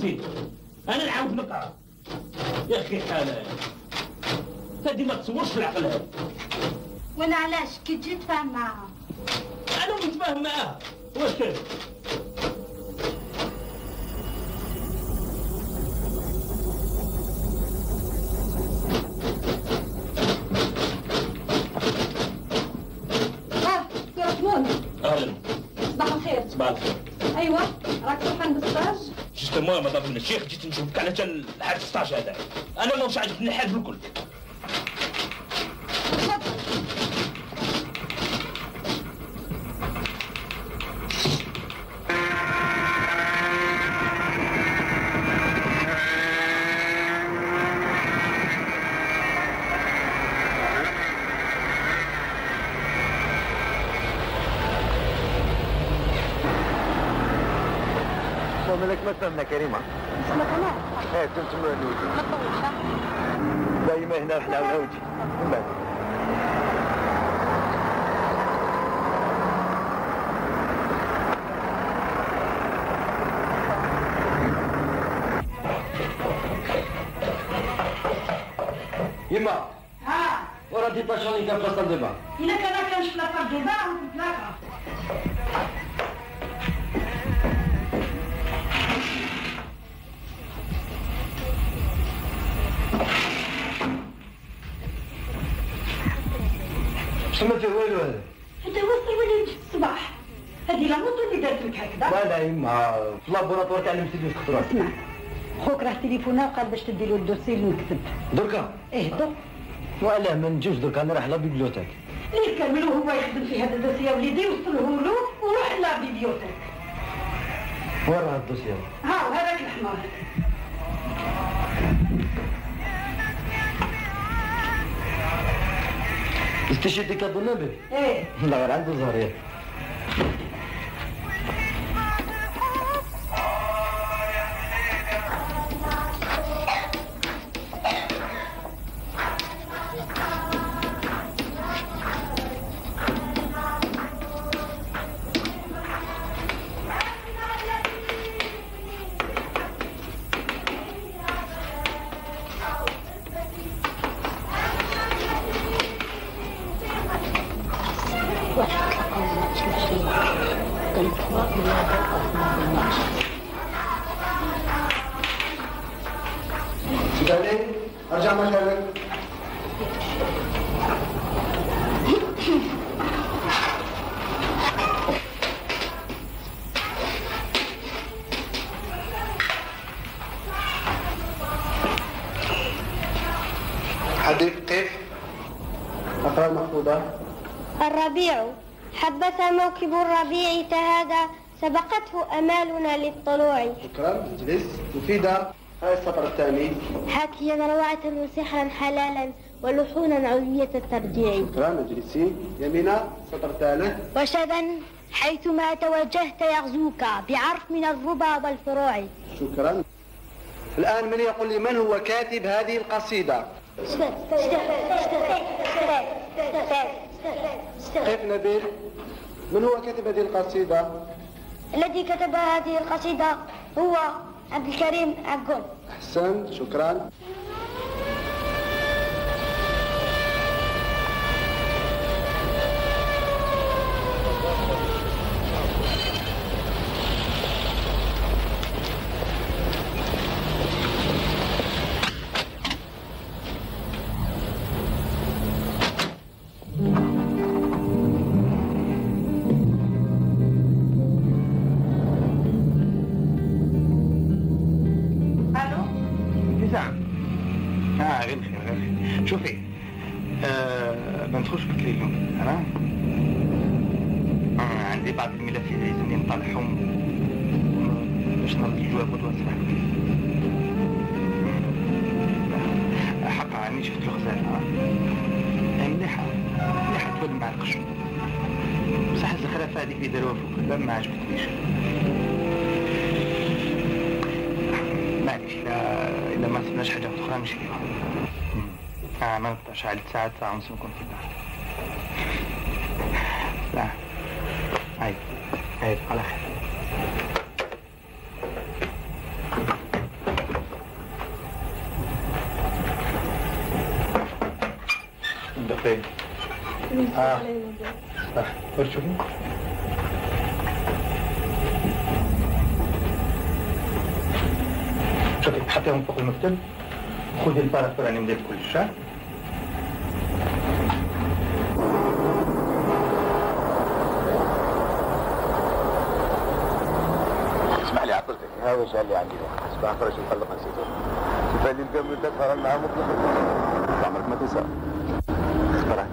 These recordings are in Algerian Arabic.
نسيت انا نعاود نقرا. يا اخي حاله هادي ما تصورش في العقل هذا. وانا علاش كي تجي تفاهم معاها؟ انا متفاهم معاها واش كاين؟ يا رحمون. اهلا. صباح الخير. صباح الخير. ايوه راك فرحان بالستاج؟ جوستومون مدام من الشيخ جيت نشوفك على جال الحاد الستاج هذا. انا ما مش عاجبني الحاد بالكل. مالك ما تفهمنا كريمه؟ اسمك كمان؟ ايه كنت مولود. ما تطولش. دايما هنا رحنا ونعودي من بعد. يما ها ورا دي باشوني كان فاصل دابا. إلا كانش في لافار ديبا نتلاقى. ما فيه والو هذا. انت وصل ولا جيت الصباح؟ هذه لا موطو اللي دارت لك هكذا. لا لا يما في لابوراتوار تاع المسيدي خطرات. اسمع خوك راه تليفونا وقال باش تدي له الدوسي اللي نكتب. دركا؟ ايه درك. وعلاه ما نجوش دركا انا رايح لابيبليوتيك. اللي كامل وهو يخدم في هذا الدوسي يا وليدي وصله له وروح لابيبليوتيك. وين راه الدوسي؟ ها وهذاك الحمار. استشهدتي كادو النبي؟ ايه لا غير عنده زهريه. سيداني ارجع مكانك. حديث كيف؟ اقرا المحفوظة. الربيع حبس موكب الربيع تهادى سبقته أمالنا للطلوع. شكرا اجلس. مفيدة. هاي السطر الثاني. حاكيا روعة وسحرا حلالا ولحونا علوية الترجيع. شكرا اجلسي. يمينة السطر الثالث. وشذا حيثما توجهت يغزوك بعرف من الربا والفروع. شكرا. الآن من يقول لي من هو كاتب هذه القصيدة؟ كيف نبيل؟ من هو كاتب هذه القصيدة؟ الذي كتب هذه القصيدة هو عبد الكريم عقول. أحسن شكرا. شوفي ما ندخلش في التليفون انا عندي بعض الملفات لازمني نطلعهم باش نرد الجواب ونوصلها حقا راني شفت الغزاله مليحه مليحه تولي مع القشر بصح الزخرفه هذيك اللي داروها فوق لا ما عجبتنيش معليش الا ما سمعش حاجه اخرى نمشي فيها ما نقدرش على ساعة ونص نكون في الدار. لا عيب على خير. فين؟ شوفي شوفي حطيهم فوق المكتب، خذي الفارغ الفلاني مديت كل شيء. اسمح لي عطلتك، هذا الشيء اللي عندي ده صباح فرش وخلق نسيته. شوف اللي نقبل تفهم معاه مطلقا. عمرك ما تنسى. اخترعت.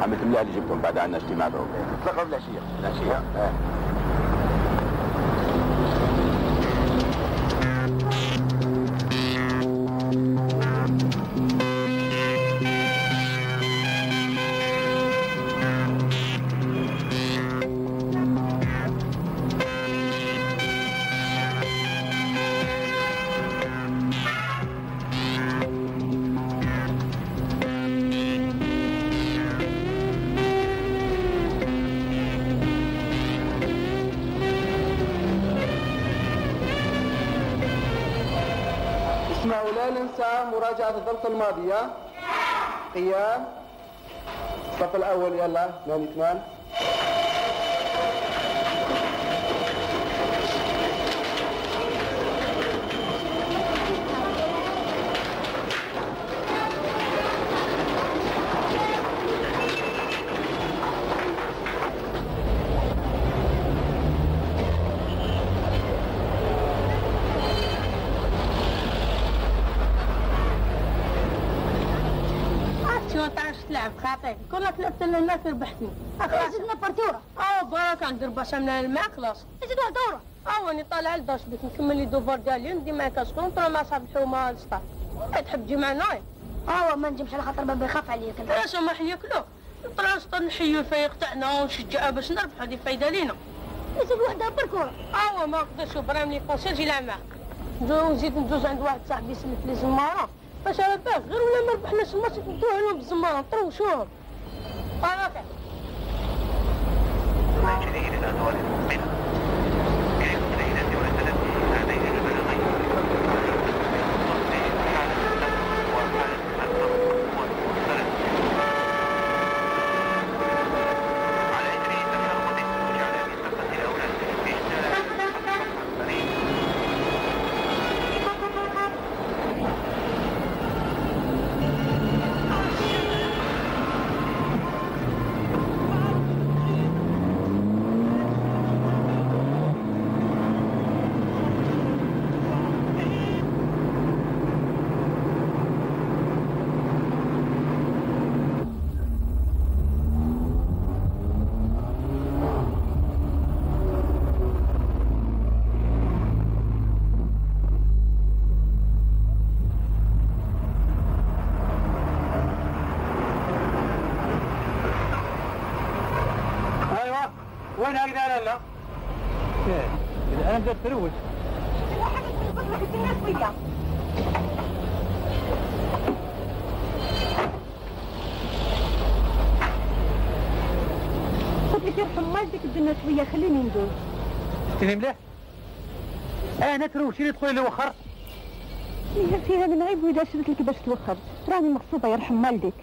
عملت مليح اللي جبتهم بعد عنا اجتماع بهم. تلقوا بالعشية. لا ننسى مراجعة الضبط الماضية. قيام. الصف الأول يلا 8 تلعب خاطئ كنا تلعبت لنا ربحتني زدنا بارتورة برك ندير باش من الماء خلاص زدنا دورة راني طالع لداش بيك نكمل لي دوفار ديالي ندي معاك كونطرا مع صاحب الحومه السطاف تحب تجي معنا ما نجمش على خاطر بابا يخاف عليك انت لا سمح ياكلو نطلع نسطر نحيو الفريق تاعنا ونشجعها باش نربح هذه فايده لينا نزيد وحده بركورة ما نقدرش برام لي قصير جي معاه نزيد ندوز عند واحد صاحبي سميت لي زماره باش على بالك غير ولا ما ربحناش الماتش ندوه لهم بالزماره نطروشوهم طرافع جديد الأدوار المؤمنة كيف سيدتي وسلامتي هذين البلغين تصفي حالة الدم وحالة الضغط والمرسلة على إدريس الشرطة وجعل بثقة الأولاد بإجتال الفريق وين هكذا لا؟ أنا بدأت تروج قلت لك يرحم والدك بدنا شويه خليني ندوز تفهم مليح؟ أنا تروج اللي تقولي لي وخر فيها من عيب واذا شريت لك باش توخر راني مغصوبه يرحم والدك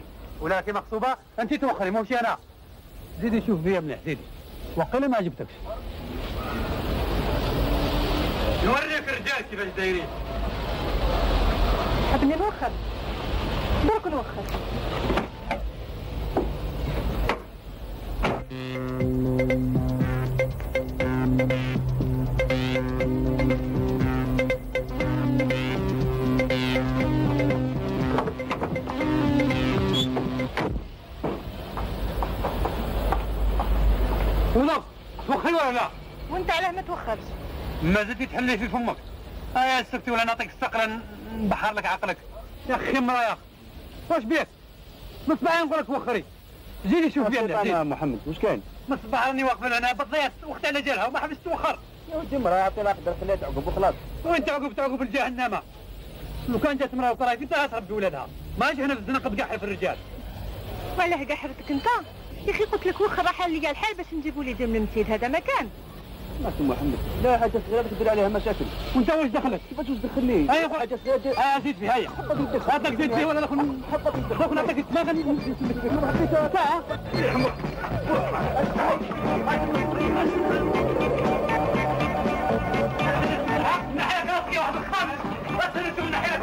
ولكن مغصوبة أنت توخري ماشي أنا زيدي شوف فيا مليح زيدي وقيلا ما عجبتكش نوريك الرجال كيفاش دايرين حبني نوخر برك نوخر ونص توخري ولا لا؟ وانت علاه ما توخرش ما زلتي تحلي في فمك يا سكتي ولا نعطيك الصقرة نبحر لك عقلك يا اخي مرا يا اخي واش بيك؟ مصباح نقول لك وخري زيدي شوف فيا يا محمد واش كاين؟ مصباح راني واقف هنا بالضياط وقت على جالها وما حبست توخر يا ودي مرا يعطي لها قدر خليها تعقب وخلاص وين تعقب الجهنمة لو كان جات مرا وطرايفي انت غتهرب بولادها ما جي هنا في الزنقه تقحر في الرجال والله قحرتك انت يا اخي قلت لك وخر راح لي الحال باش نجيبوا لي دم المسيد هذا مكان ما سي محمد لا حاجه صغيره تدير عليها مشاكل. وانت واش دخلك؟ كيفاش واش دخلني؟ ايوا حاجه صغيره زيد فيها هيا هذاك زيد فيه ولا ناخذ ناخذ نعطيك الدماغ ساعه ناحيه راسي واحد الخامس بس من ناحيه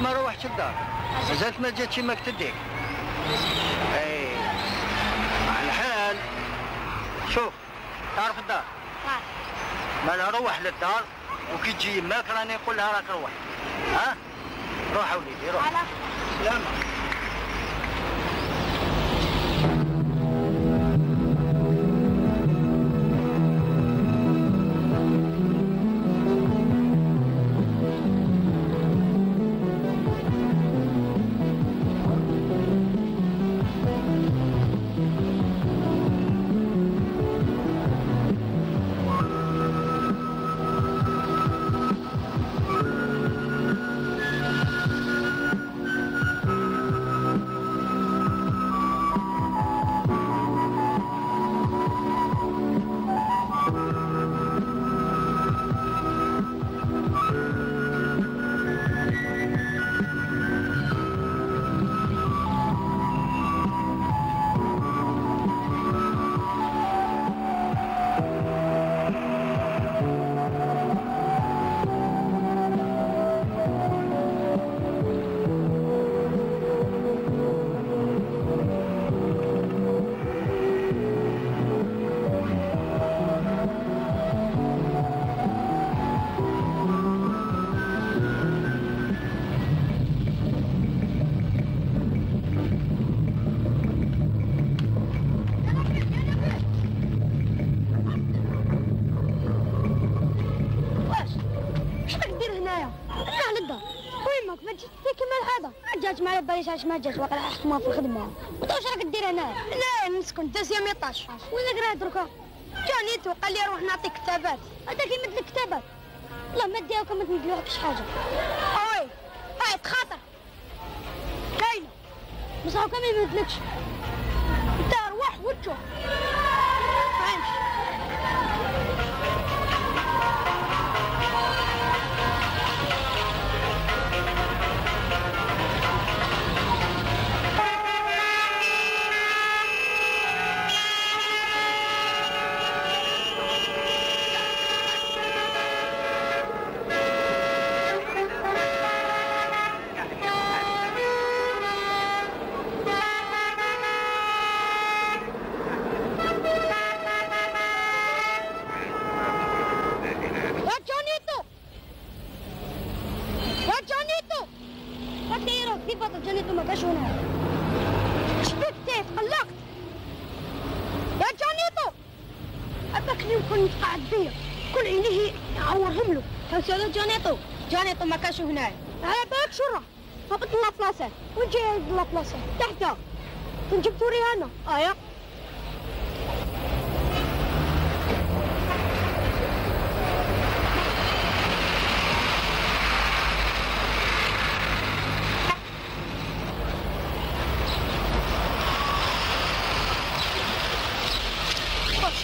ما روحتش الدار مازالت ما جاتش ماك تديك. اي على الحال شوف تعرف الدار ما لا روح للدار وكي تجي يماك راني نقول لها راك روح. ها روح وليدي روح. سلامة. جات معايا باليش علاش ما جات واقيلا حكمها في الخدمه. انت واش راك دير هنا؟ لا نسكن تاسيا 18 وين راك دركا؟ جانيتو قال لي روح نعطيك كتابات. هذاك يمد لك كتابات والله ما ديها وكان ما تمدلوكش حاجه. اوي هاي تخاطر كاينه بصح وكان ما يمدلكش انت روح وتشوف. فهمتش؟ جانيتو ما كانش هنا. على بالك شرا هبط لنا بلاصه وين جاي لنا بلاصه تحت كنت جبتو ريانا. ايا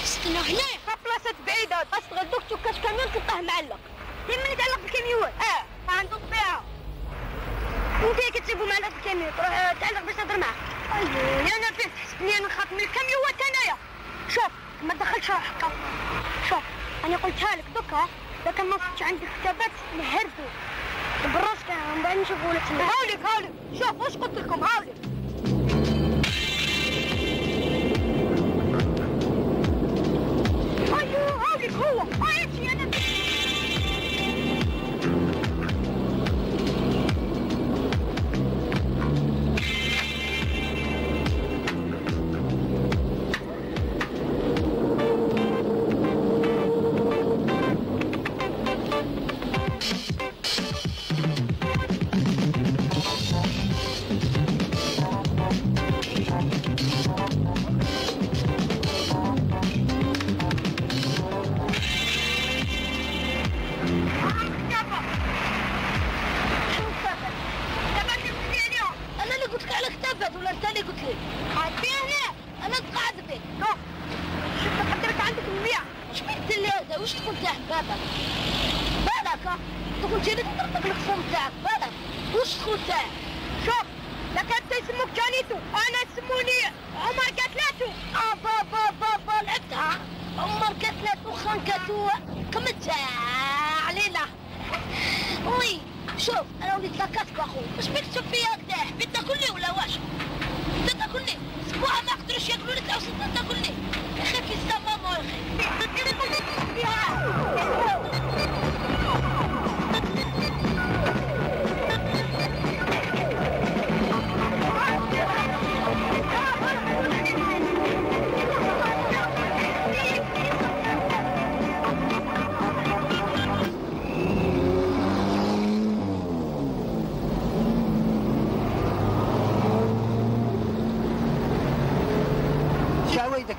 استنى هنايا بلاصه بعيده بس تغدوك توكاش كاميون تلقاه معلق. يمني تعلق بالكاميون. عنده طبيعه. انت كتجيبو معلق بالكاميون تروح تعلق باش تهضر معاه. ايوه يا نبيل تحسبني انا نخاف من الكاميوات انايا. شوف ما تدخلش روحك. شوف انا قلتها لك دوكا اذا كان ما صدتش عندك كتابات نهردو براسك من بعد نشوفوا لك. هاوليك شوف واش قلت لكم. هاوليك ايوه هاوليك هو امشي انا.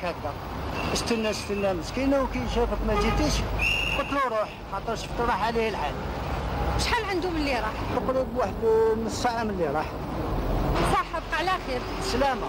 هكذا استنى مسكينه وكي شافك ما جيتيش قلت له روح خاطر شفت راح عليه الحال. شحال عنده من اللي راح؟ تقريبا واحد نص ساعه من اللي راح. صحتك على خير. سلامه.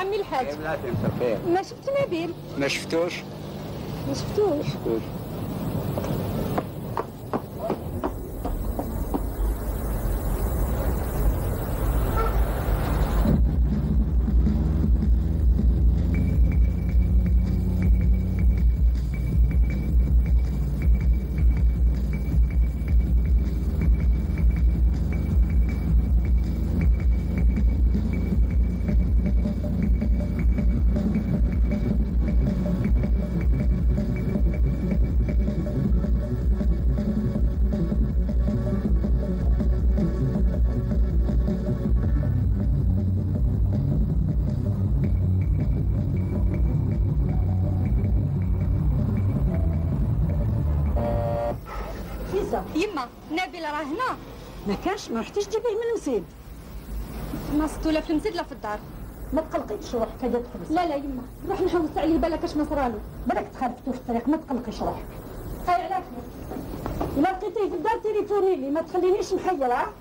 عمي الحاج. بلاتي مساء الخير. ما شفت نبيل؟ ما شفتوش؟ ما شفتوش. يما نبيل راه هنا. ما كانش، ما رحتيش تجيبيه من المسيد. ما صدتو لا في المسجد لا في الدار. ما تقلقيش روحك هذا تحبس. لا لا يما روح نحوس عليه بالك اش ما صرالو. بالك تخرفتو في الطريق، ما تقلقيش روحك. هاي على خير. إلا لقيتيه في الدار تليفوني لي، ما تخلينيش محيرة.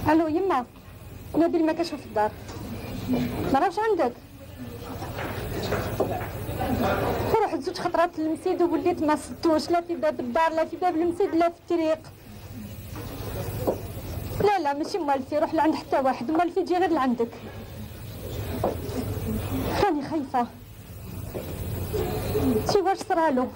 الو يما نبيل ما كاش في الدار. ما راهش عندك. رحت زوج خطرات للمسيد ووليت ما صدتوش لا في باب الدار لا في باب المسيد لا في الطريق. لا لا ماشي موالفي روح لعند حتى واحد، موالفي تجي غير لعندك. راني خايفه شي واش صرالو.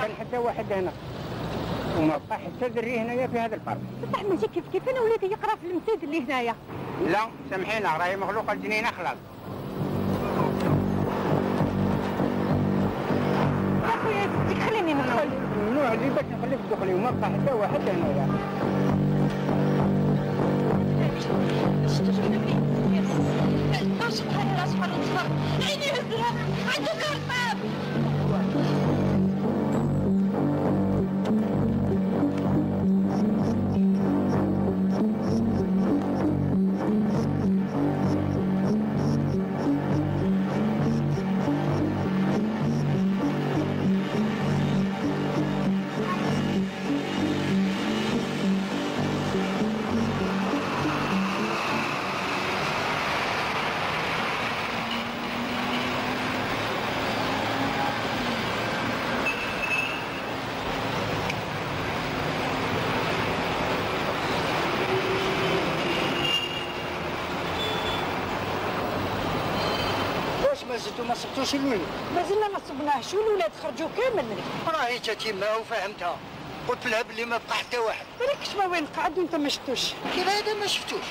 كان حتى واحد هنا وما بقى حتى دري هنايا في هذا البارك. بصح ماشي كيف انا وليت يقرا في المسجد اللي هنايا. لا سامحينا راهي مخلوقه الجنينه خلاص. اخويا بديك خليني ندخل. ممنوع لي باش نخليك تدخلي وما بقى حتى واحد هنايا. سبحان الله سبحان الله عيني هزها عندك الباب. زدتوا ما صبتوش الولد. مازلنا ما صبناهش والولاد خرجوا كامل. راهي تتيما وفهمتها، قلت لها باللي ما بقى حتى واحد. بالك شما وين قعد وانت ما شفتوش؟ كيف هذا ما شفتوش؟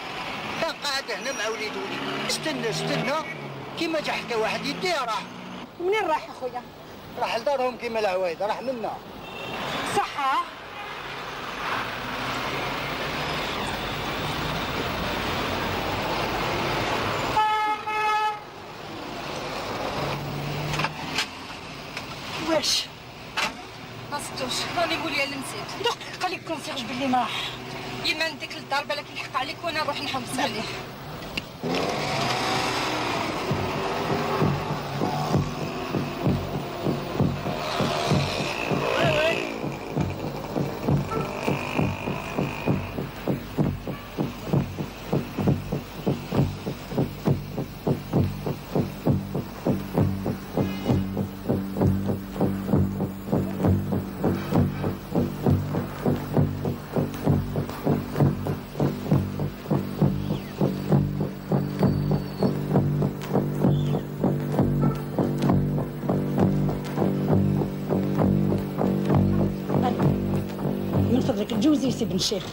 كان قاعد هنا مع وليد وليد، استنى كيما جا حتى واحد يديه راح. منين راح اخويا؟ راح لدارهم كيما العوايد، راح منا. صحة؟ واش؟ ما صدتوش، راني نقول يا اللي نسيت. دق قال لك كونسيرج باللي ما راح. يما نديك للدار بالك يلحق عليك وانا نروح نحبس عليه. جوزي سي بن الشيخ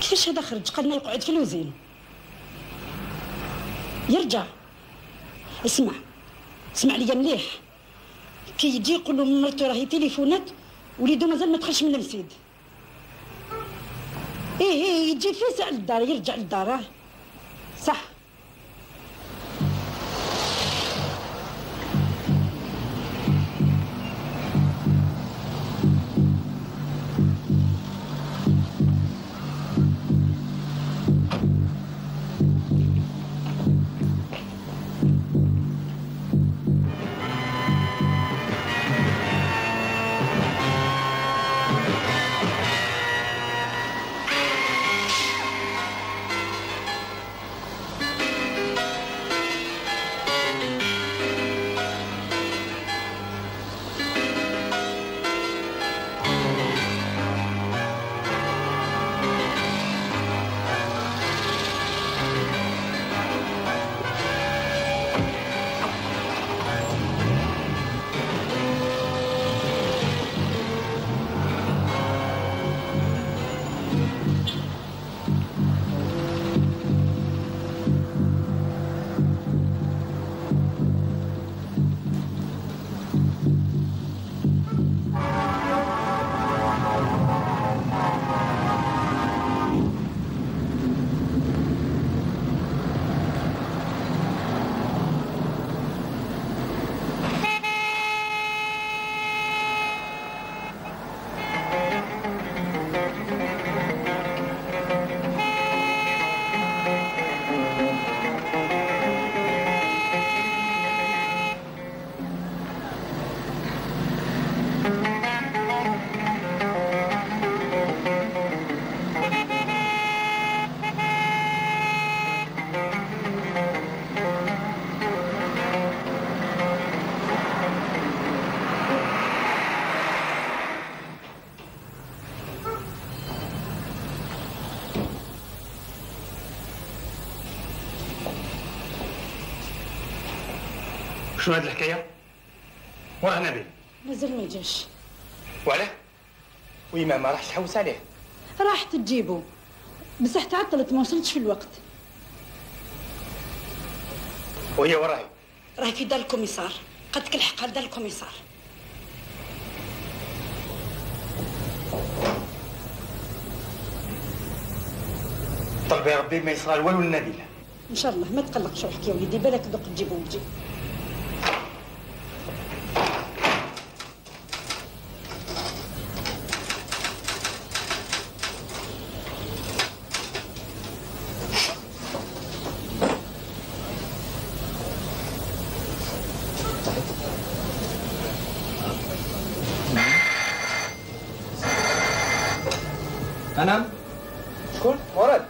كيفاش هذا خرج؟ قالنا يقعد في الوزين يرجع. اسمع ليا مليح، كي يجي يقول له مرتو راهي تليفونات وليدو مازال ما دخلش من المسجد. ايه يجي في ساعة للدار يرجع للدار. صح. شنو هاد الحكايه؟ وراه نبيل مازال ما جاش. وعلاه؟ ويما ما راحش تحوس عليه؟ راحت تجيبو بصح تعطلت ما وصلتش في الوقت. وهي وراهي؟ راهي في دار الكوميسار، قدك الحق دار الكوميسار. طلبي يا ربي ما يصرى والو لنبيل. ان شاء الله ما تقلقش روحك يا وليدي، بالك دوك تجيبو وتجي. أنا؟ شكون؟ مراد؟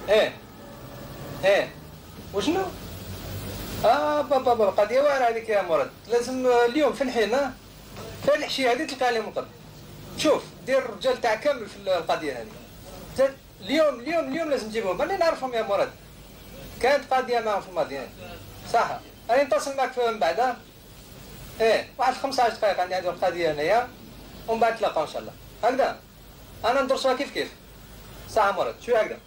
إيه وشنو؟ بابا قضية واعرة هذيك يا مراد، لازم اليوم في الحين في الحشية هذه تلقى عليهم القبض. شوف دير الرجال تاع كامل في القضية هذه. اليوم لازم تجيبهم، ماني نعرفهم يا مراد. كانت قضية معهم في الماضي. صح. راني نتصل معك من بعد. ايه واحد 15 دقيقة عندي هذه القضية هنايا ومن بعد نتلاقاو ان شاء الله. هكذا انا ندرسوها كيف. صح مراد شويه هكذا.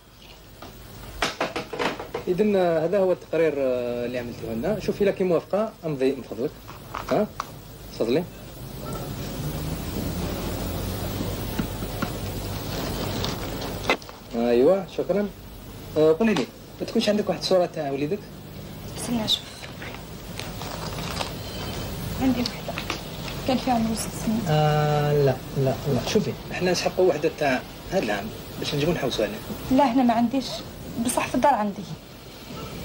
إذن هذا هو التقرير اللي عملته لنا. شوفي لك موافقة امضي من فضلك. ها تفضلي. ايوه شكرا. قولي لي ما تكونش عندك واحد الصورة تاع وليدك؟ استنى اشوف. عندي وحده كان فيها عمره 6 سنين. لا شوفي احنا نسحقوا وحده تاع هذا العام باش نجيبو نحوسوا عليه. لا هنا ما عنديش، بصح في الدار عندي.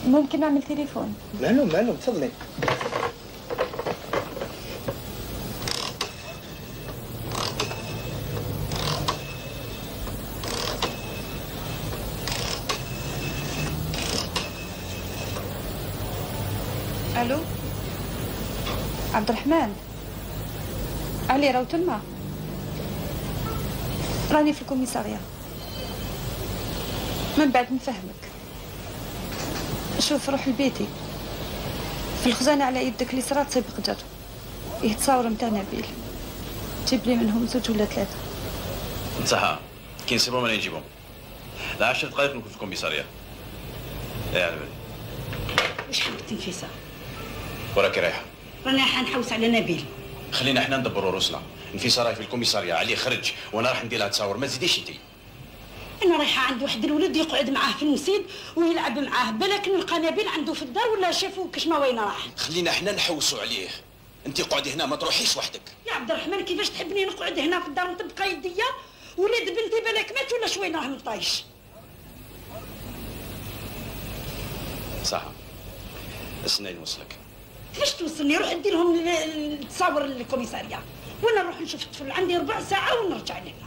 ممكن نعمل تليفون؟ معلوم تفضلي. الو عبد الرحمن، علي راهو تما، راني في الكوميسارية. من بعد نفهمك. شوف روح لبيتي في الخزانة على يدك اليسرى تصيب قدر يتصاور متاع نبيل، جيب لي منهم 2 ولا 3. صح كي نصيبهم راني نجيبهم. لا 10 دقائق نكون في الكوميسارية. ايه على بالي. واش حبيتي نفيسة؟ وراكي رايحة؟ رانا حنحوس على نبيل. خلينا احنا ندبروا روسنا. نفيسة راهي في الكوميسارية، علي خرج وانا راح ندير لها تصاور، ما تزيديش انتي. انا رايحه عند واحد الولد يقعد معاه في المسيد ويلعب معاه، بالك نلقى نبيل عنده في الدار ولا شافو كشما وين راح. خلينا احنا نحوسوا عليه. انت قعدي هنا ما تروحيش وحدك. يا عبد الرحمن كيفاش تحبني نقعد هنا في الدار ونطبق يديا؟ ولاد بنتي بالك مات ولا شوين راه مطايش. صح استني نوصلك. كيفاش توصلني؟ روح ندير لهم التصاور للكوميساريه وانا نروح نشوف الطفل، عندي 4 ساعة ونرجع لهنا.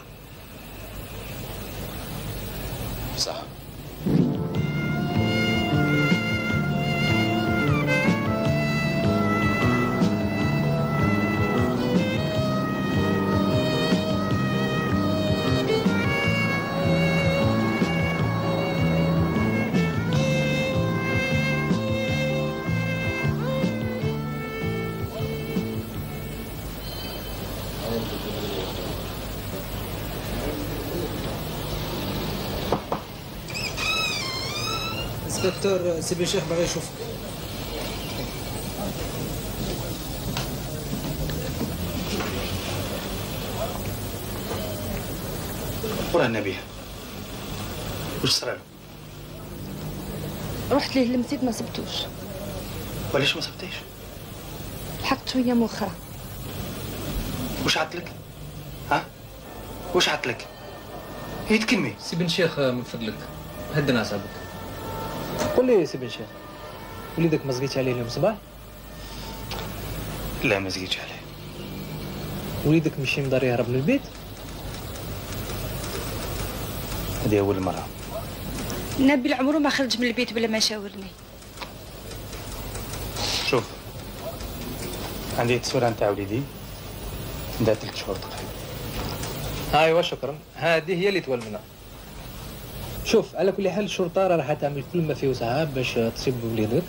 صح. دكتور سيبي الشيخ بغى يشوفك. وراه النبي واش صرا؟ رحت ليه المسجد ما سبتوش. وعلاش ما سبتيش؟ لحقت شويه مؤخرا. واش عطلك؟ ها؟ واش عطلك؟ هي تكلمي. سي بن شيخ من فضلك هدنا اعصابك. قول لي سي بن شيخ، وليدك ما زقيتش عليه اليوم صباح؟ لا ما زقيتش عليه. وليدك مشي مدار يهرب من البيت؟ هذه أول مرة. نبيل عمره ما خرج من البيت بلا ما شاورني. شوف عندي تصويرة نتاع وليدي عندها 3 شهور تقريبا. ايوا شكرا، هذه هي اللي تولمنا. شوف على كل حال الشرطة راح تعمل كل ما فيه وسعها باش تصيب وليدك،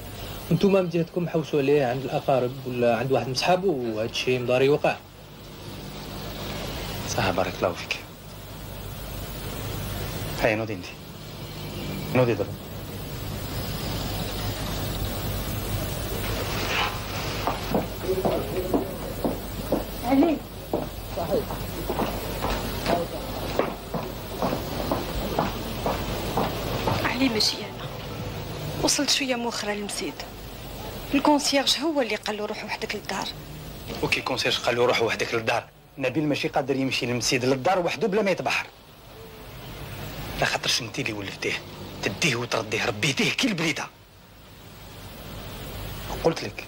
وانتوما من جهتكم حوسوا عليه عند الأقارب ولا عند واحد من صحابه، وهذا الشيء مضاري يوقع. صح بارك الله فيك. هاي نوضي انت. نوضي ضرب. علي. صحيح. علي ماشي انا. وصلت شويه مؤخرا للمسيد. الكونسيرج هو اللي قال له روح وحدك للدار. وكي الكونسيرج قال له روح وحدك للدار، نبيل ماشي قادر يمشي للمسيد للدار وحده بلا ما يتبحر. لا خاطرش انت اللي ولفتيه، تديه وترديه، ربيتيه كي البليده. قلت لك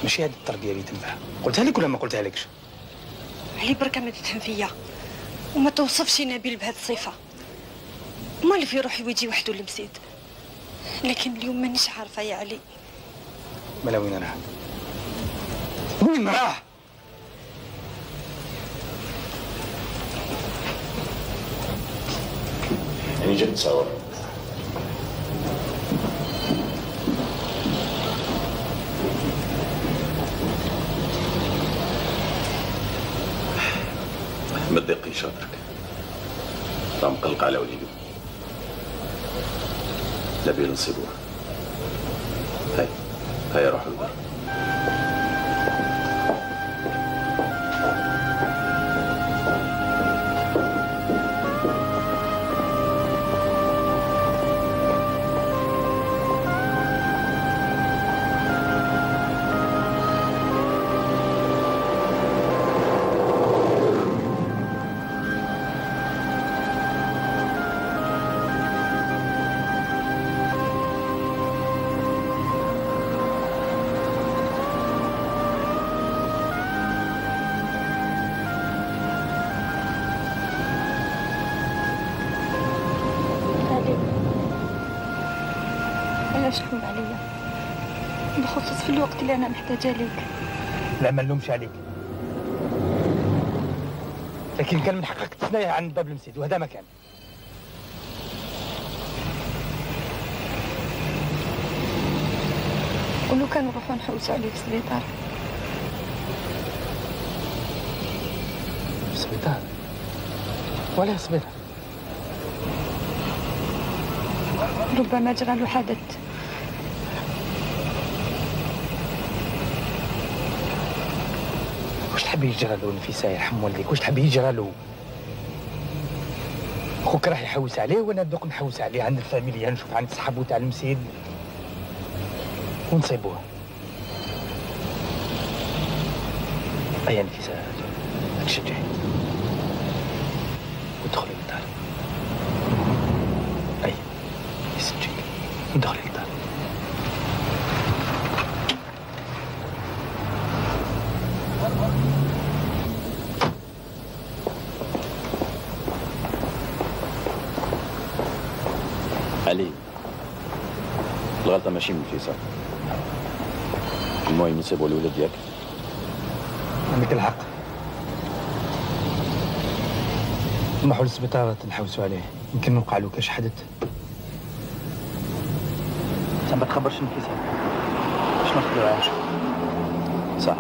ماشي هذه التربيه اللي تنفع. قلتها لك ولا ما قلتها لكش؟ علي بركه ما تتهم فيا وما توصفش نبيل بهذه الصفه. مال في روحي ويجي وحده للمسيد، لكن اليوم مانيش عارفه يا علي. مالا وين راح؟ وين راح؟ يعني جد تصور تقلقيش هذاك، راه مقلق على وليدو. نبيل نصيبوه. هاي روحوا للدار. علاش تلوم عليا بخصوص في الوقت اللي انا محتاجه ليك؟ لا ما نلومش عليك، لكن كان من حقك تستنى عند باب المسجد وهذا ما كان. ولو كان نروحو نحوسو عليك في السبيطار. السبيطار؟ ولا السبيطار؟ ربما جرى له حدث. واش تحبي يجرى له نفيسة يرحم والديك؟ واش تحبي يجرى له؟ خوك راح يحوس عليه وانا دوق نحوس عليه عند الفاميليا، نشوف عند صحابو تاع المسيد ونصيبوه. ايا نفيسة تشجعي ودخلي للدار. اي يسجيك ندخلي للدار. علي الغلطة ماشي من فيصل، المهم نسيبو الولد ديالك. عندك الحق، نروحو للسبيطار نحوسو عليه، يمكن نوقع له كاش حدث. انت ما تخبرش نفيسة باش ناخدو عايش. صح.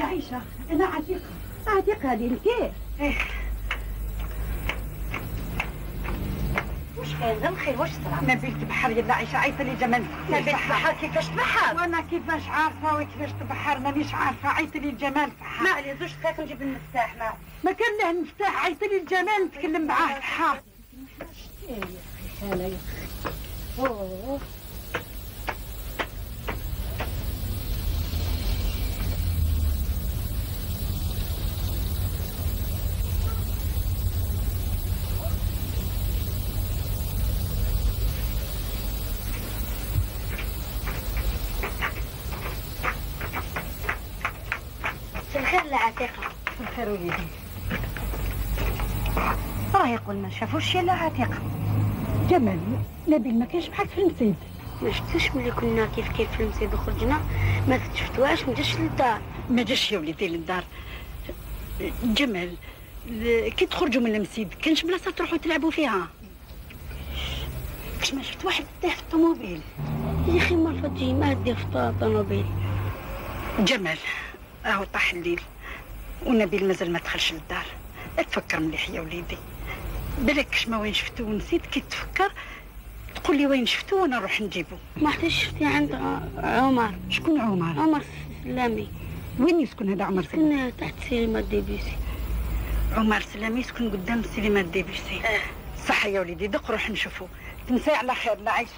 عايشة أنا عتيقة هذه الكيف. واش كاين الخير؟ واش صرا؟ نبيل تبحر يا عايشة، عيطة لي جمال. نبيل تبحر كيفاش تبحر؟ وانا كيفاش عارفة وكيفاش تبحر مانيش عارفة. عيطة لي جمال فحار. ما عليه زوج دقائق نجيب المفتاح. ما كان له المفتاح. عيطة لي جمال نتكلم معاه فحار. اوه الخير لعتيقة. الخير وليدي. راه يقول ما شافوش يا عتيقة. جمال نبيل ما كانش بحال في المسيد. ما شفتوش ملي كنا كيف في المسيد وخرجنا ما شفتوهاش. ما جاش للدار. ما جاش يا وليدي للدار. جمال كي تخرجوا من المسيد كانش بلاصه تروحوا تلعبوا فيها. كاش ما شفت واحد طيح في الطوموبيل. يا اخي ما فاتي ما دير في الطوموبيل. جمال راهو طاح الليل ونبيل مازال ما دخلش للدار. تفكر مليح يا وليدي، بالك كاش ما وين شفتو ونسيت كي تفكر قول لي وين شفتو وانا نروح نجيبو. ما حتى شفتي عند عمر. شكون عمر؟ عمر سلامي. وين يسكن هذا عمر سلامي؟ يسكن تحت سينما ديبيسي. عمر سلامي يسكن قدام سينما ديبيسي. صح يا وليدي دق روح نشوفو. تمسي على خير لا عايشه.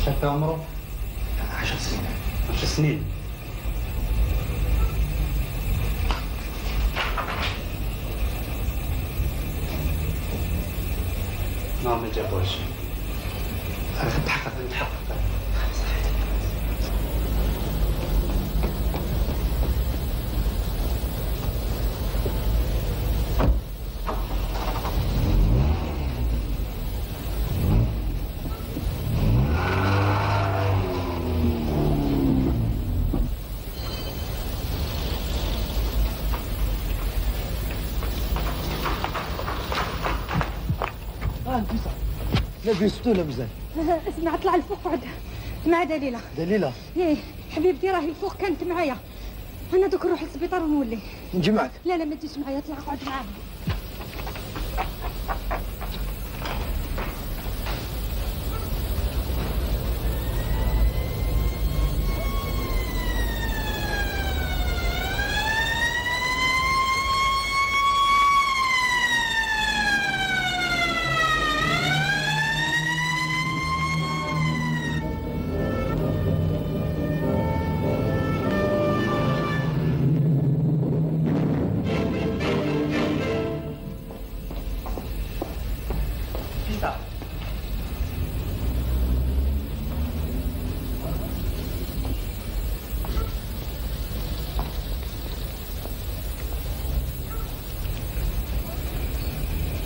شاف عمره 10 سنين 10 سنين. ما جابوش. انا نتحقق لبستو لا مزال. اسمع اطلع لفوق قعد مع دليله. دليله؟ ايه حبيبتي راهي الفوق كانت معايا. انا دوك نروح للسبيطار ونولي. نجي معك؟ لا لا ما تجيش معايا اطلع قعد معاها.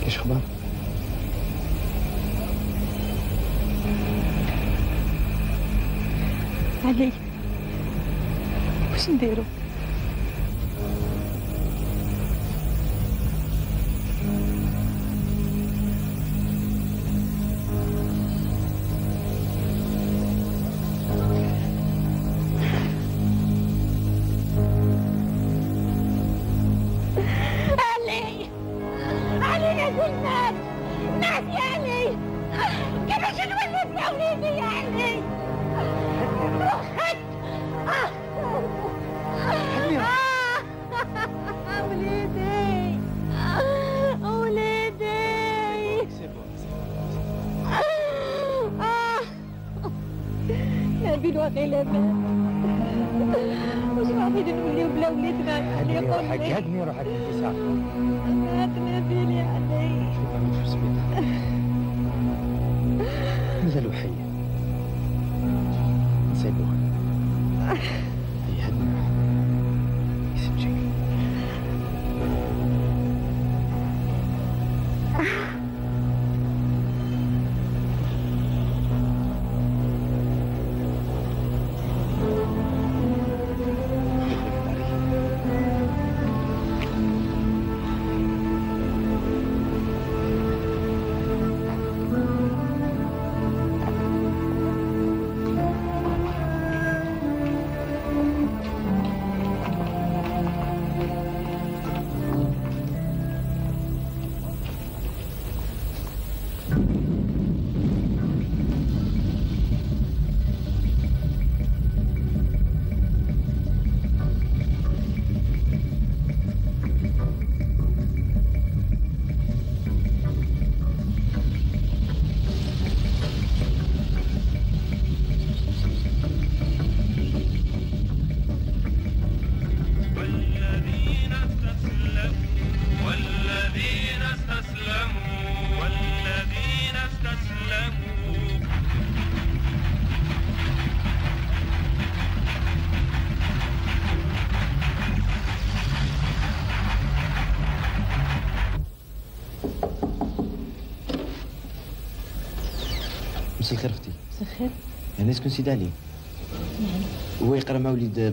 ايش اخبار؟ علي واش نديرو؟ نبيل وغير واش غادي نوليو بلا وليدنا اللي يقول لي هدني روحك انت ساعه. مات نبيل يا علي. شوف انا في السبيطار مازالو حي نسيبوه. هي هدني يسمجك. انا اسكن سيدي علي. هو يقرا مع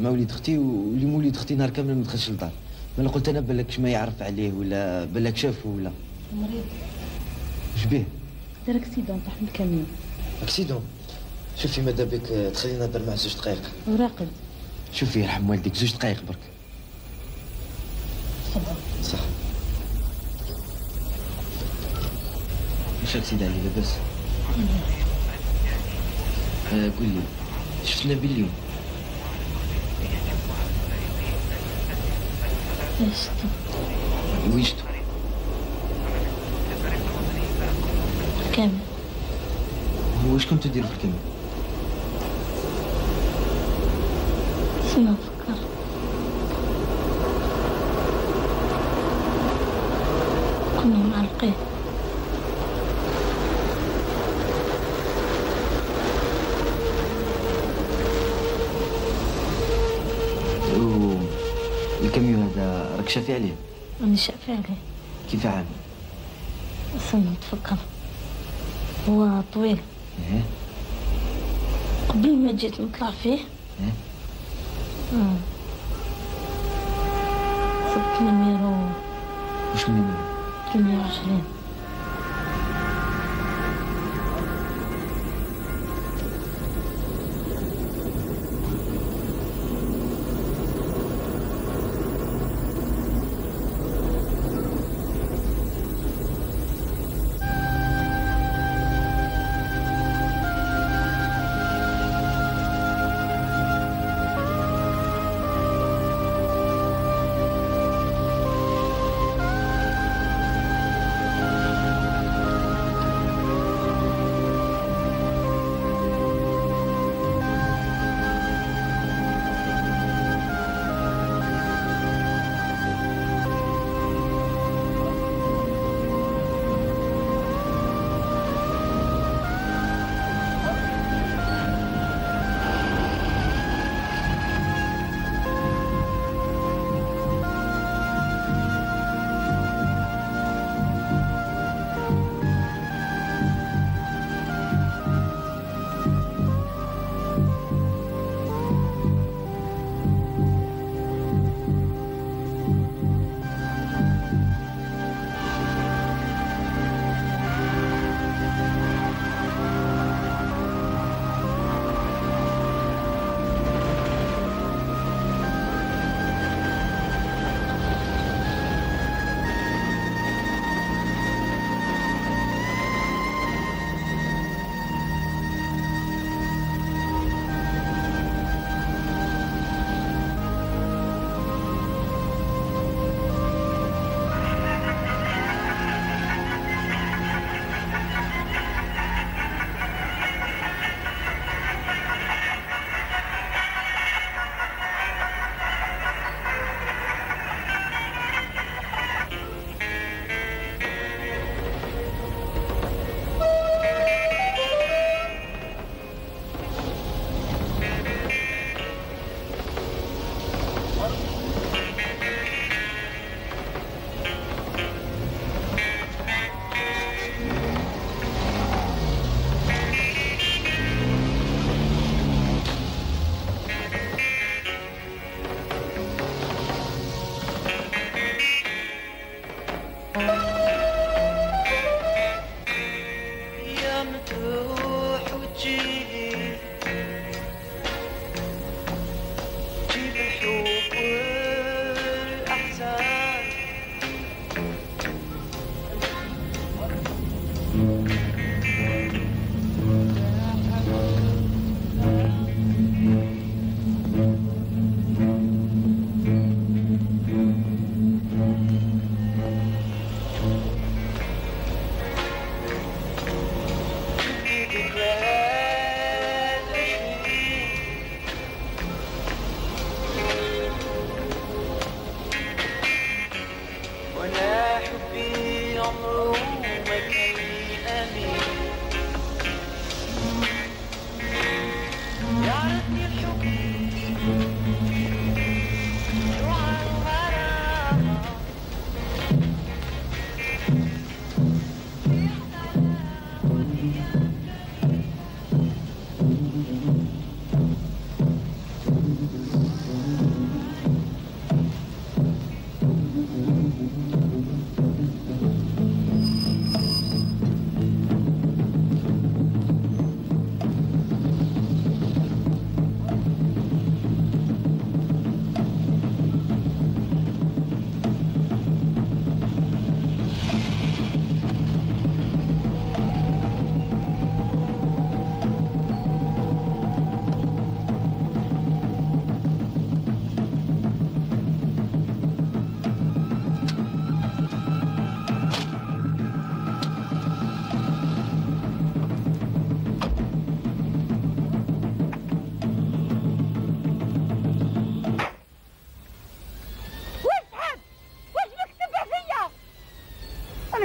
وليد اختي، واللي مولد اختي نهار كامل ما دخلش للدار. انا قلت انا بالك ما يعرف عليه ولا بالك شافه ولا. مريض. واش بيه؟ دار اكسيدون، طاح من الكاميون. اكسيدون؟ شوفي ماذا بك تخلينا نهضر معاه 2 دقائق. وراقد. شوفي يرحم والديك 2 دقائق برك. صح. واش سيدي علي لاباس؟ قول لي شفت نبيل اليوم؟ شفتو. وين شفتو؟ كامل. واش كنتو ديروا في الكامل؟ ما نفكر. كنا معلقين. الكاميون هذا راك شافي عليه؟ راني شافي عليه. كيف عامل؟ استنى نتفكر. هو طويل. ايه. قبل ما جيت نطلع فيه. ايه. صبت نميرو. واش نميرو؟ 28.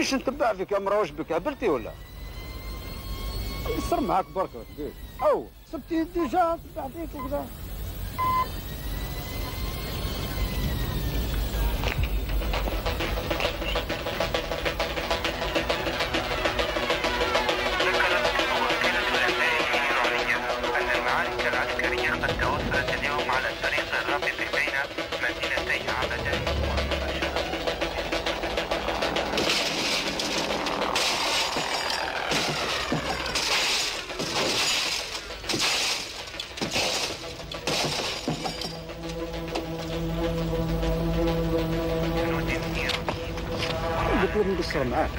مانيش نتبع فيك يا مرا، واش بك هبلتي ولا؟ نقصر معاك برك كبير. او سبتي ديجا نتبع فيك وكذا. قد توفرت اليوم على الطريق الرابط بين مدينتي عبدة قلت لك نقصر معاك.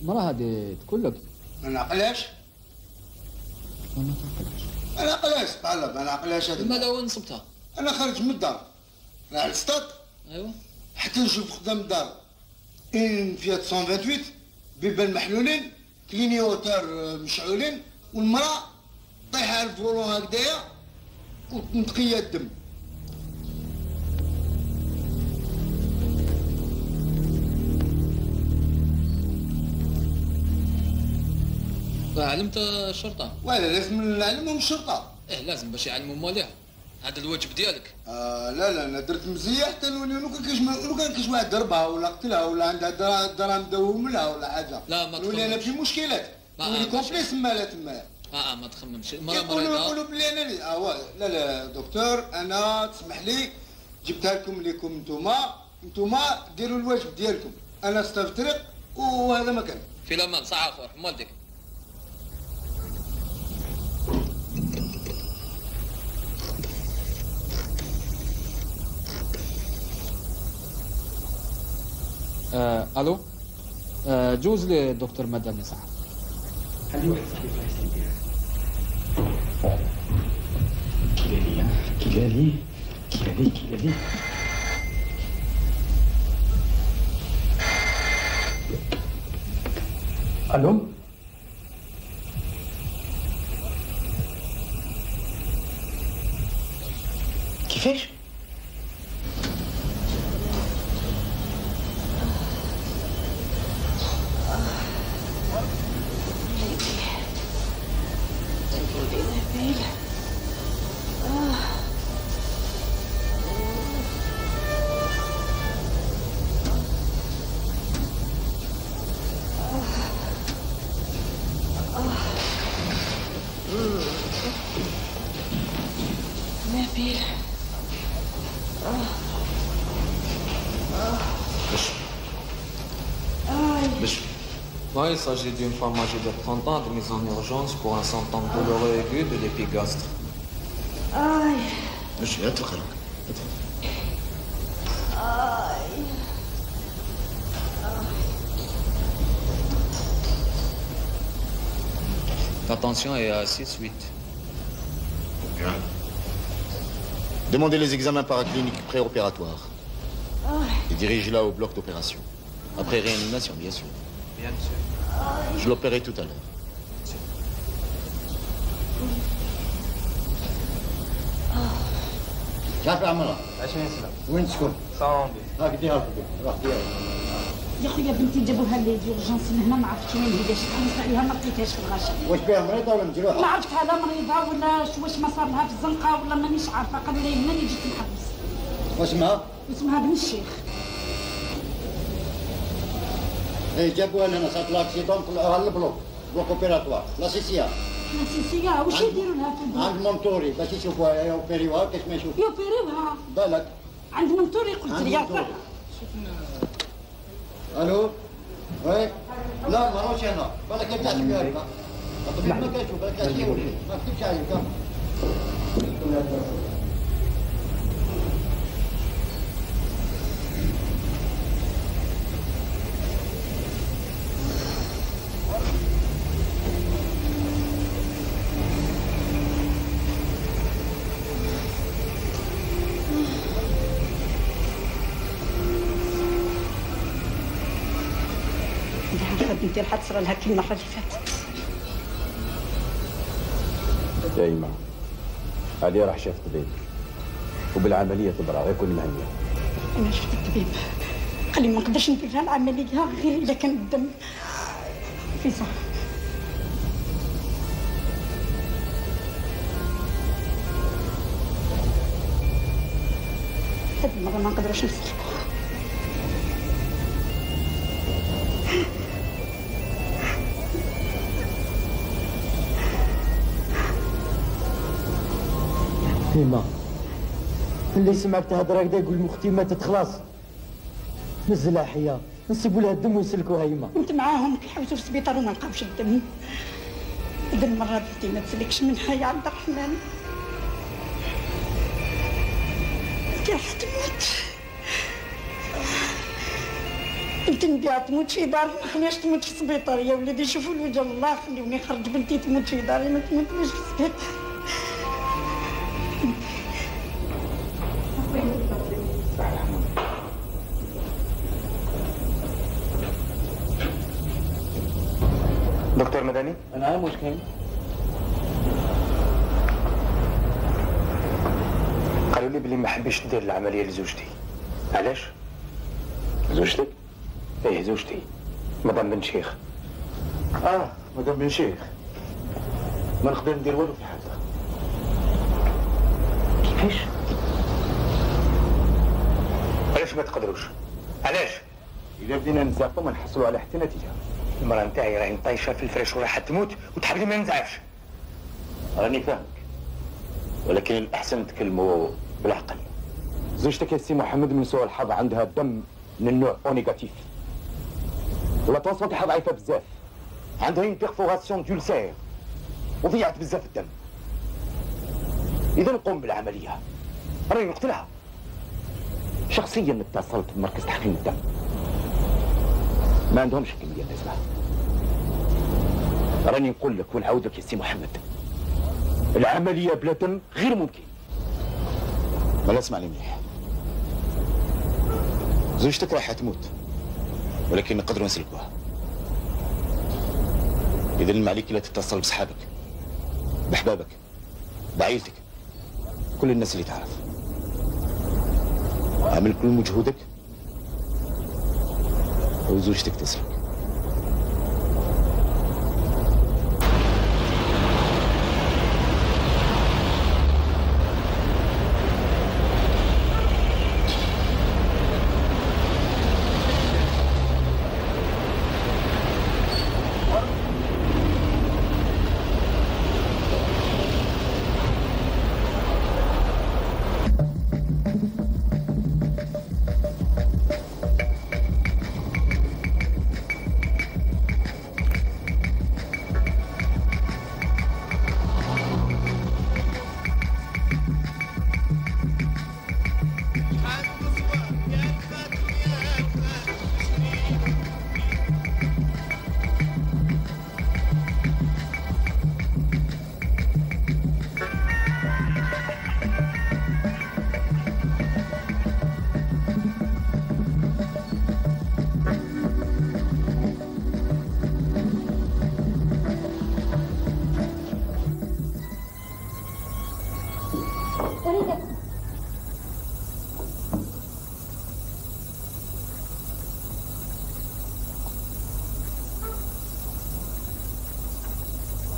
المرأة هذه تقول لك ما نعقلهاش. ما تعقلهاش. ما نعقلهاش تعلم، ما نعقلهاش هذه. لماذا وين نصبتها؟ أنا خارج من الدار، أنا على السطاد. أيوه. حتى نشوف قدام الدار إن فيات 128 بيبان محلولين، كلينيوتار مشعولين، والمرأة طايحة على الفرولون هكذايا وتنتقيها الدم. علمت الشرطة؟ ولا لازم نعلمهم الشرطة. إيه لازم باش يعلموا مواليها. هذا الواجب ديالك. لا انا درت مزيه حتى نولي لو كان كاش واحد ضربها ولا قتلها ولا عندها دراهم دوم لها ولا حاجه. لا ما نولي انا في مشكلات. نولي كومبليس تما تما. ما تخممش. يقولوا بلي انا لا دكتور انا تسمح لي جبتها لكم نتوما ديروا الواجب ديالكم. انا استفطرق وهذا ما كان. في الامان صح اخر والديك. الو جوز لي دكتور مدني صح. خلي واحد صاحبي الله يسلمك. كي قال لي الو كيفاش؟ Il s'agit d'une femme âgée de 30 ans de mise en urgence pour un symptôme douloureux aigu de l'épigastre. La tension est à 6-8. Bien. Demandez les examens paracliniques préopératoires. Et dirigez-la au bloc d'opération. Après réanimation, bien sûr. Bien sûr. Je l'opérerai tout à l'heure. شاف عمرها 20 سنة. وين تسكن؟ صامبي. هاك ديها الفيديو روح ديها. يا خويا بنتي جابوها لي ديورجونس هنا ما عرفتش وين هي باش تحمس عليها ما لقيتهاش في الغاشة. واش بها مريضة ولا مجروحة؟ ما عرفتها لا مريضة ولا واش ما صار لها في الزنقة ولا مانيش عارفة قالوا لي هنا اللي جيت نحبس. واسمها؟ اسمها بن الشيخ. جابوها لنا صارت لها اكسيدون طلعوها للبلوك اوبيراتوار لاسيسيا. لاسيسيا واش يديروا لها في البلوك؟ عند مونتوري باش يشوفوها يوبيريوها كاش ما يشوفوا. يوبيريوها؟ بالك. عند مونتوري قلت لي يا الو وي لا ماهوش انا بالك يبدا فيها هكا الطبيب ما كيشوف بالك كيولي ما كتبش عليك. بنتي راح تصرى لها كي المره اللي فاتت. يا إما هذه راح شافت طبيب وبالعملية تبرع يكون مهنية. أنا شفت الطبيب قال لي ما نقدرش ندير لها العملية غير إذا كان الدم في صح. هذه المرة ما نقدروش نسلكوها. هيما اللي سمعت تهضر هكذا يقول مختي ماتت خلاص نزلها حياه نسيبوا لها الدم ويسلكوها هيما. كنت معاهم كيحوسوا في السبيطار وما لقاوش الدم. هذه المره بنتي ما تسلكش منها يا عبد الرحمن. بنتي راح تموت. بنتي نبيها تموت في داري ما خليهاش تموت في السبيطار يا وليدي. شوفوا الوجه الله خليوني نخرج بنتي تموت في داري ما تموتش في السبيطار. دكتور مدني؟ نعم واش كاين؟ قالوا لي بلي ما حبيتش دير العملية لزوجتي. علاش؟ زوجتك؟ ايه زوجتي مدام بن شيخ. مدام بن شيخ ما نقدر ندير والو في حالها. كيفاش؟ علاش ما تقدروش؟ علاش؟ إذا بدينا نزعفوا ما نحصلوا على حتى نتيجة. المرأة نتاعي راهي مطيشة في الفراش وراح تموت وتحبني ما نزعفش. راني فاهمك، ولكن الأحسن نتكلموا بالعقل. زوجتك يا سي محمد من سوء الحظ عندها دم من النوع او نيجاتيف. ولا طونسيون تاعها ضعيفة بزاف. عندها اون بيرفوراسيون دولسير وضيعت بزاف الدم. إذا نقوم بالعملية. راني نقتلها. شخصيا اتصلت بمركز تحقيق الدم. ما عندهمش الكمية اللازمة. راني نقول لك ونعاود لك يا سي محمد، العملية بلا دم غير ممكن. ما اسمعني مليح، زوجتك راح تموت ولكن نقدروا نسلكوها. إذا ما عليك لا تتصل بصحابك، بأحبابك، بعائلتك، كل الناس اللي تعرف. اعمل كل مجهودك وزوجتك تسلك.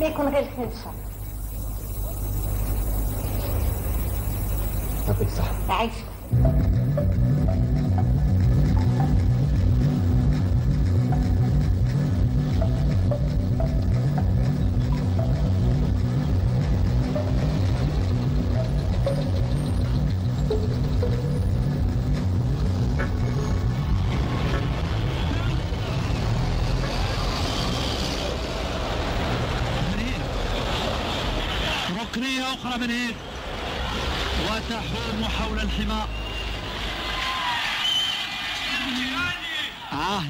ما يكون غير خنفسة. يعطيك الصحة. عايشة. ركنية أخرى من هيك وتحوم حول الحمار.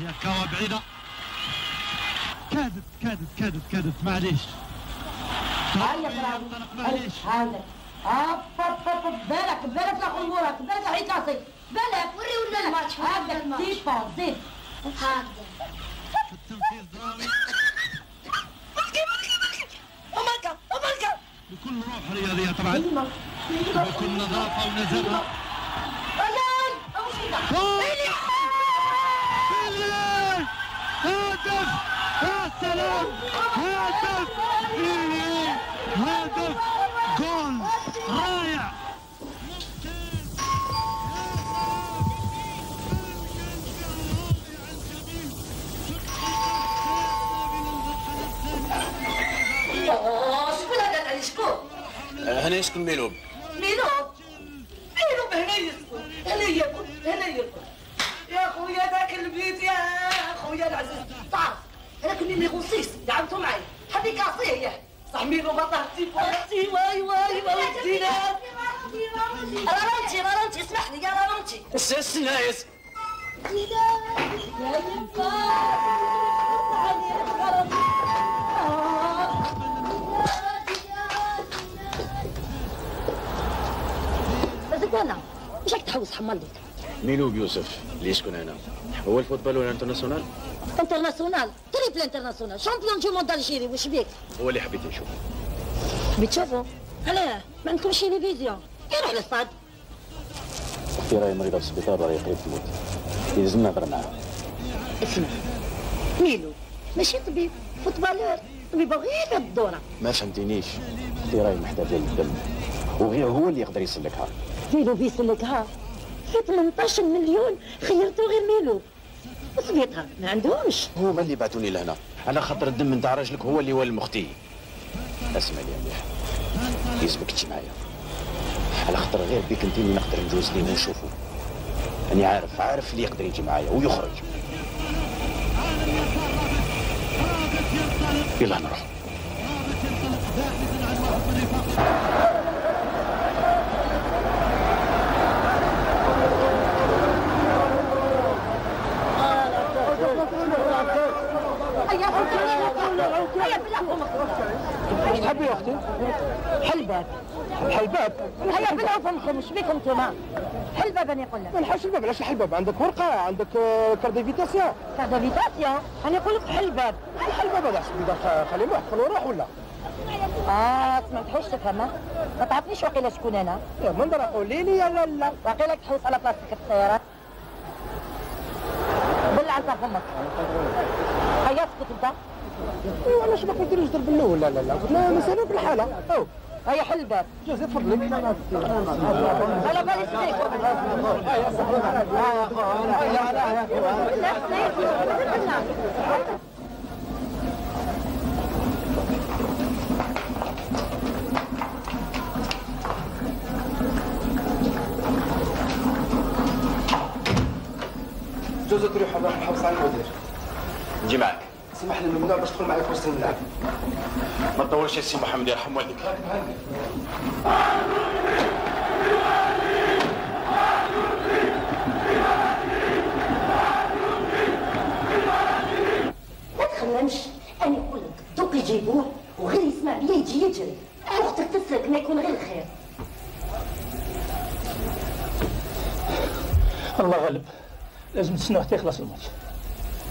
يا كوا بعيدة. كادت معليش. هيا معليش. هذا بالك لا خمورك، بالك لا عيد راسك، بالك وريونا الماتش. هكذا تيفا زيد هكذا. التنفيذ دراوي. بكل روح رياضية طبعا، بكل نظافة ونزاهة. هدف! يا سلام! هدف! هدف! جول رائع! شكون هذا تاع شكون؟ هنا يسكن ميلوب. ميلوب هنا يسكن، هنا يركض. يا خويا ذاك البيت يا خويا العزيز، تعرف انا كنت نيغو 6 دعمتو معايا، حبي كاسيه ياه، صح ميلوب طاحتي فوقتي واي ودينا. رانتي اسمح لي يا رانتي. السنايس. يا انا واش راك تحوس حمال ليك؟ ميلوب يوسف اللي يسكن هنا هو الفوتبال ولا انترناسيونال؟ انترناسيونال، تريبل انترناسيونال، شامبيون دو موند الجيري. واش بيك؟ هو اللي حبيت نشوفه. حبيت تشوفه؟ علاه؟ ما عندكمش تلفزيون؟ يروح للصاد. اختي راهي مريضه في السبيطار راهي قريب تموت، يلزم نهضر معاها. اسمع ميلو ماشي طبيب، فوتبالور، طبيب غير الدوره. ما فهمتينيش، اختي راهي محتاجه للدم وغير هو اللي يقدر يسلكها. ميلو بيسلكها في 18 مليون خيرتو غير ميلو وصبيتها ما عندهمش. هما اللي بعثوني لهنا على خاطر الدم نتاع راجلك هو اللي والم اختي. اسمع لي مليح، يلزمك تجي معايا على خاطر غير بيك انت اللي نقدر نجوز ليه ونشوفه. أني عارف اللي يقدر يجي معايا ويخرج. يلا نروح. ايش تحبي يا اختي؟ حلباب. الحلباب؟ هيا بلعوا فمكم، ايش بيكم انتوما؟ حلباب انا نقول لك. ما نحبش الباب، علاش الحلباب؟ عندك ورقه، عندك كارديفيتاسيون. كارديفيتاسيون؟ انا نقول لك حلباب. الحلباب هذا خليه محفل وروح ولا؟ سمعتهوش تفهمها؟ ما تعرفنيش واقيلا شكون انا؟ يا منظر قولي لي يا لا. واقيلا تحوس على بلاصتك في السيارات. بلع على فمك. هيا اسكت انت. ايوا علاش ما كديروش ضرب الاول؟ لا قلت له مسألة في الحالة. او هيا حل الباب. جوزي تفضلي. على بالي سميك. جوزي تروح نحوس على المدير. نجي معك. سمح لي ممنوع باش تدخل معي في وسط الملعب. ما تطولش يا سي محمد يرحم والديك. ما تخممش، انا نقول لك دوك يجيبوه وغير يسمع بيا يجي يجري. اختك تسلك ما يكون غير الخير. الله غالب، لازم نستناو حتى يخلص الماتش.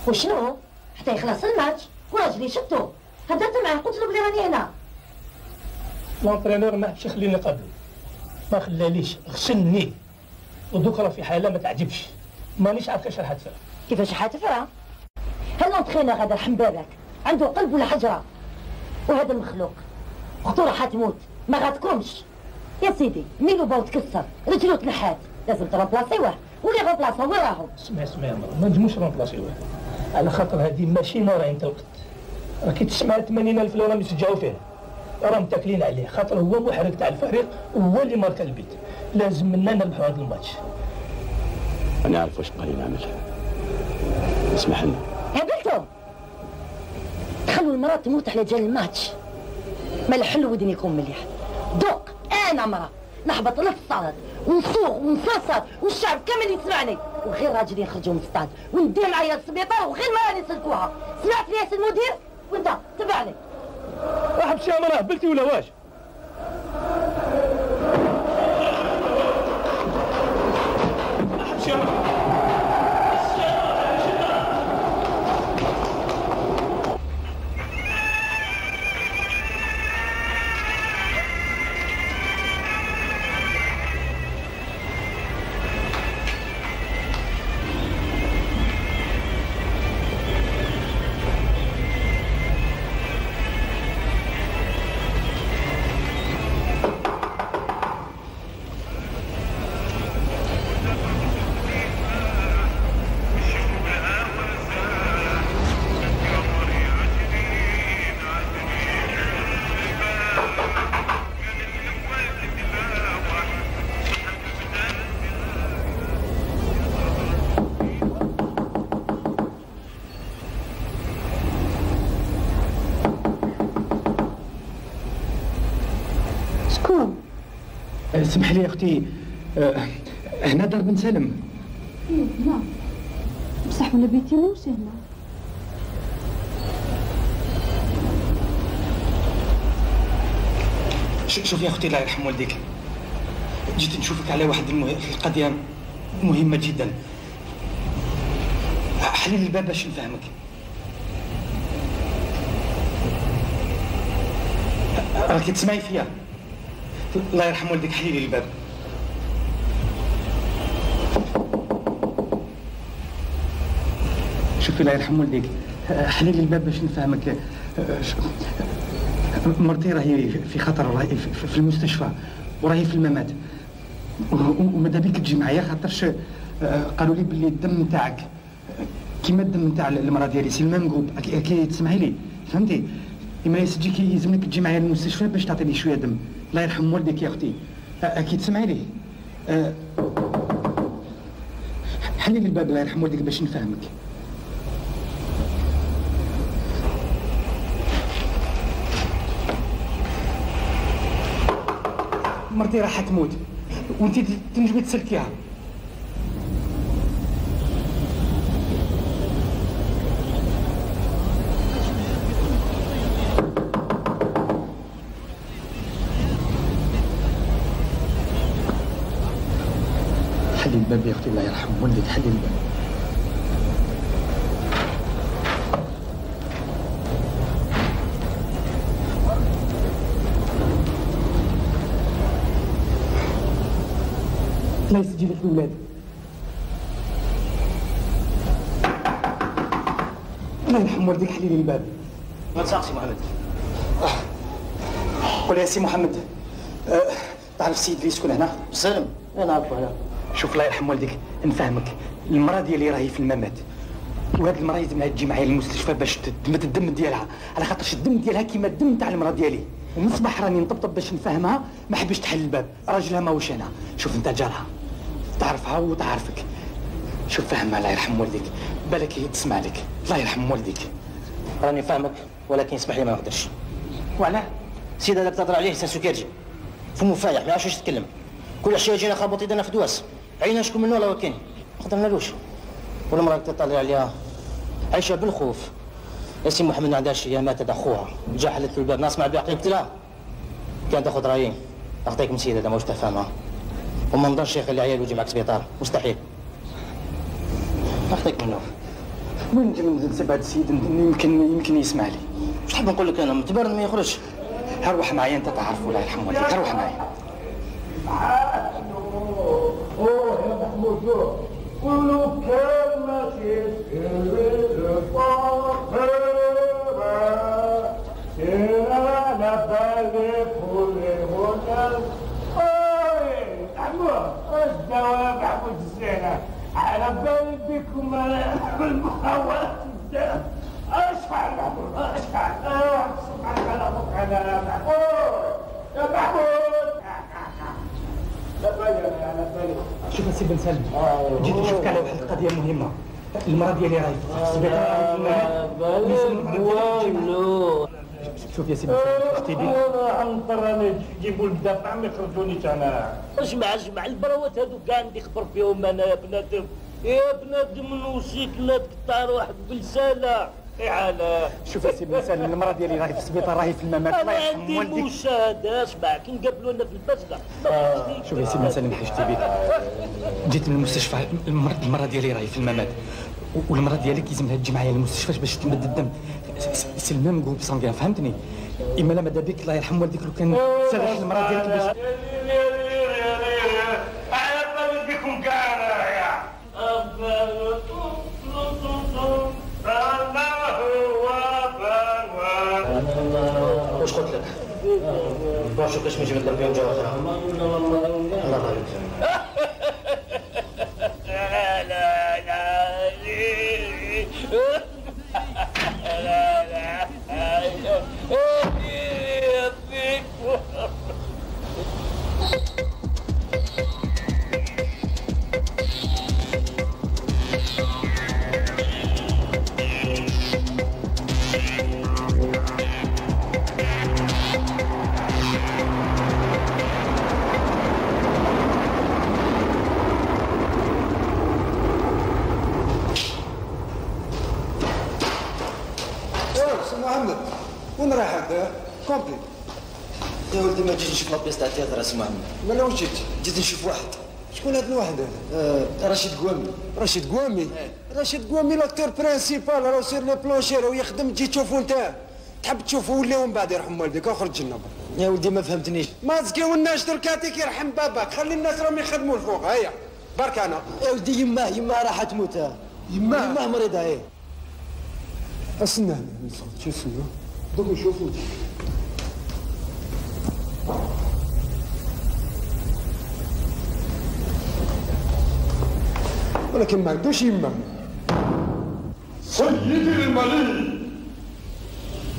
وشنو؟ حتى يخلص الماتش؟ وراجلي شفتو هدرت معاه قلت له بلي راني هنا. لونترينور ما حبش يخليني نقابلو، ما خلاليش، غسلني ودوك راه في حاله ما تعجبش، مانيش عارف كيفاش راح تفرق. كيفاش حتفرق؟ هل لونترينور هذا رحم بابك عنده قلب ولا حجره؟ وهذا المخلوق اختو راح تموت ما غاتكمش. يا سيدي ميلو باو تكسر رجلو تنحات لازم ترومبلاسيوه واللي رومبلاسا وين راهم؟ اسمع يا مرا، ما نجموش رومبلاسيوه على خاطر هذه ماشي مرة انت وقت. راكي تسمع 80,000 اللي راهم يشجعوا فيه، راهم متاكلين عليه خاطر هو محرك تاع الفريق وهو اللي ماركا البيت. لازم منا نربحوا هذا الماتش. انا عارف واش بغي نعمل. اسمح لنا. قابلتو تخلوا المرأة تموت على جال الماتش. ما الحل ودنيكم مليح. دوق انا مرأة نحبط للصالات ونصوغ ونصاصر والشعب كامل يسمعني وغير راجل يخرجوا من الصاد وندير معايا للسبيطار وغير ما راني نسلكوها. سمعت لي يا سي المدير؟ وانت تبعني. واحد شي مرة هبلتي ولا واش؟ اسمح لي يا اختي، هنا دار بن سالم. نعم بصح ولا بيتي ماهوش هنا. شوف يا اختي الله يرحم والديك، جيت نشوفك على واحد القضيه مهمه جدا. حلي لي الباب باش نفهمك. راكي تسمعي فيا؟ الله يرحم والديك حلي لي الباب. شوفي الله يرحم والديك، حلي لي الباب باش نفهمك. مرتي راهي في خطر، راهي في المستشفى وراهي في الممات، وماذا بيك تجي معايا خاطرش قالوا لي باللي الدم نتاعك كيما الدم نتاع المراه ديالي سي الميم جروب. كي تسمعي لي فهمتي؟ اما يسجيك يلزمك تجي معايا للمستشفى باش تعطيني شويه دم. الله يرحم والديك يا اختي. اكيد تسمعي لي. حلي لي الباب الله يرحم والديك باش نفهمك. مرتي راح تموت وانت تنجمي تسلكيها. حلي الباب يا اختي الله يرحم والديك، حلي الباب. الله يسجي لك الولاد. الله يرحم والديك، حلي لي الباب. ما تساق سي محمد. قول يا سي محمد، تعرف السيد اللي يسكن هنا؟ سالم، انا نعرفه هنا. شوف الله يرحم والديك نفهمك، المراه ديالي راهي في الممات، وهاد المراه لازمها تجي معايا للمستشفى باش تدمت الدم ديالها، على خاطرش الدم ديالها كيما الدم تاع المراه ديالي. ومن الصباح راني نطبطب باش نفهمها، ما حبش تحل الباب، راجلها ماهوش هنا. شوف انت جارها تعرفها وتعرفك، شوف فهمها الله يرحم والديك، بالك هي تسمع لك. الله يرحم والديك. راني فاهمك ولكن اسمح لي ما نقدرش. وعلاه؟ السيد هذاك تهضر عليه انسان سكرجي، فمو فايح ما يعرفش يتكلم، كل عشيه يجينا خابط يدنا في دواس، عينا شكون منه ولا كاين، ما قدرنالوش. والمراه تطلع عليها عايشه بالخوف. يا سي محمد ما عندهاش، هي ماتت اخوها، جا حلت له الباب، ناس مع بعقلي قلت لها كان تاخذ رايين، اعطيك من سيد هذا ماهوش تفهمها، وما نضرش يخلي عيال يجي معك سبيطار، مستحيل. اعطيك منه. وين نجي نسب هذا السيد؟ يمكن يسمع لي. واش تحب نقول لك انا؟ متبرد ما يخرجش. هروح معايا انت تعرف الله يرحم والديك، هروح معايا. يا محمود كل كلمة على بالي كل هنا. محمود الدواء محمود الزينة على بالي بكم المحاولات الزينة. اشحال محمود اشحال سبحانك على ابوك على محمود يا محمود. شوف السي بن سالم، جيت نشوفك على واحد القضيه مهمه. المراه ديالي راهي في السبيطار. شوف يا سي بن سالم اش تيدير؟ انا نضطر راني نجيبوا الدافع ما يخرجونيش انا. جمع البراوات هذوك كاع عندي خبر فيهم انا يا بنادم. يا بنادم نوصيك لا تقطع روحك بلسانه. على شوف يا سي بن سالم، المراه ديالي راهي في السبيطار، راهي في الممات. الله يرحم والديك. عندي مشاهده اسمع كي نقابلوا لنا في البسله. شوف يا سي بن سالم حاجتي بك، جيت من المستشفى، المراه ديالي راهي في الممات، والمراه ديالك يلزمها تجي معايا للمستشفى باش تمد الدم. سي الميم جروب سانغيان فهمتني؟ اما لا ماذا بك الله يرحم والديك لو كان سرح المراه ديالك باش على بالي بكم كاع يا واش قلت لك؟ روح شوف كاش نجيب لك بيوم جوا اخرى. الله يبارك. لا لا محمد وين رايح هذا؟ كومبلي. يا ولدي ما جيت نشوف لابيس تاع التياتر اسمع مني. مالا واش جيت؟ جيت نشوف واحد. شكون هذا الواحد هذا؟ رشيد قوامي. رشيد قوامي؟ رشيد قوامي لاكتور برانسيبال، راه سير لي بلونشي راه يخدم، تجي تشوفو انت. تحب تشوفو ولا ومن بعد يرحم والديك اخرج لنا. يا ولدي ما فهمتنيش. ما تسقيوناش دركاتيك يرحم باباك، خلي الناس راهم يخدموا الفوق. هيا برك انا. يا ولدي يماه راح تموت. يماه مريضه ايه. استنى هنا شوف شنو دوك نشوفو. ولكن ما عندوش يما. سيدي الملك،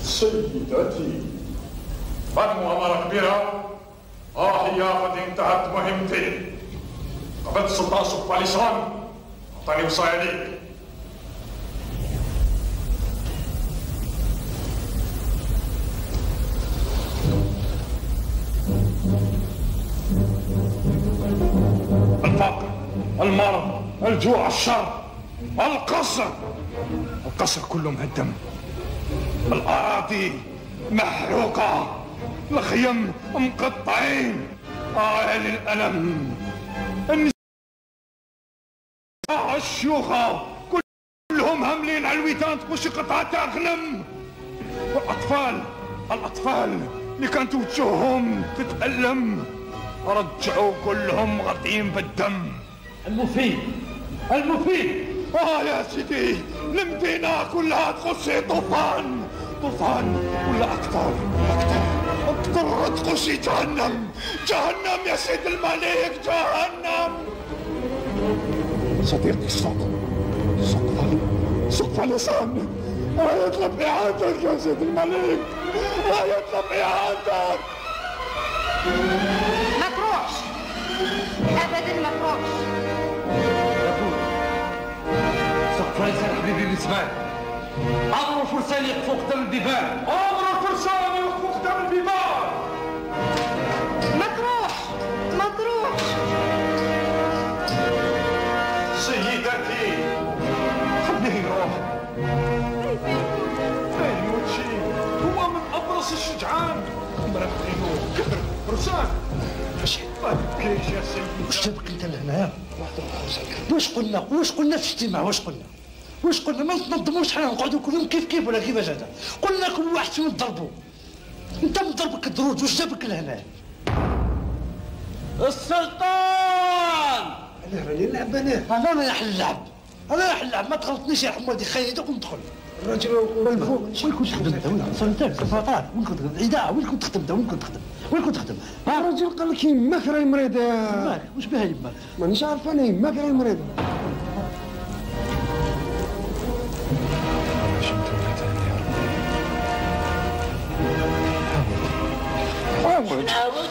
سيدتي، بعد مؤامرة كبيرة هي قد انتهت مهمتي. قبلت السلطان سوفاليسان أعطاني وصايا ليك. الفقر، المرض، الجوع، الشر، القصر كله مهدم، الأراضي محروقة، الخيم مقطعين. للألم، النساء، الشيوخة كلهم هاملين على الويتان تخش قطعة غنم، والأطفال اللي كانت وجوههم تتألم رجعوا كلهم غطين بالدم. المفيد يا سيدي، المدينة كلها تخشي طوفان ولا أكثر تخشي جهنم يا سيد الملك، جهنم. صديقي سوق فاليسان يطلب إعادتك يا سيد الملك، يطلب إعادتك. ما تروحش ابدا، ما تروحش. سوق فاليسان حبيبي بالنسبة لي، امروا الفرسان يقفوا قدام البيبان، ما تروحش سيدتي، خليه يروح. فين يمشي؟ هو من ابرص الشجعان، مرتينو كبر فرسان. ما تبكيش يا سيدي. واش تبكي انت لهنايا؟ واش قلنا في الاجتماع؟ واش قلنا ما نتنظموش حنا نقعدوا كلهم كيف ولا كيفاش هذا؟ قلنا كل واحد فينا نضربوا. انت مضربك الدروج، واش جابك لهنا؟ السلطان! انا راني نلعب انا رايح نلعب، ما تغلطنيش يا حمودي، خيدك وندخل. الراجل بالفوق. وين كنت تخدم انت؟ سلطان سلطان، وين كنت تخدم؟ اذاعه، وين كنت تخدم؟ وين كنت تخدم؟ الراجل قال لك يماك راهي مريضة. يماك؟ واش بها يماك؟ مانيش عارف انا، يماك راهي مريضة. نعاود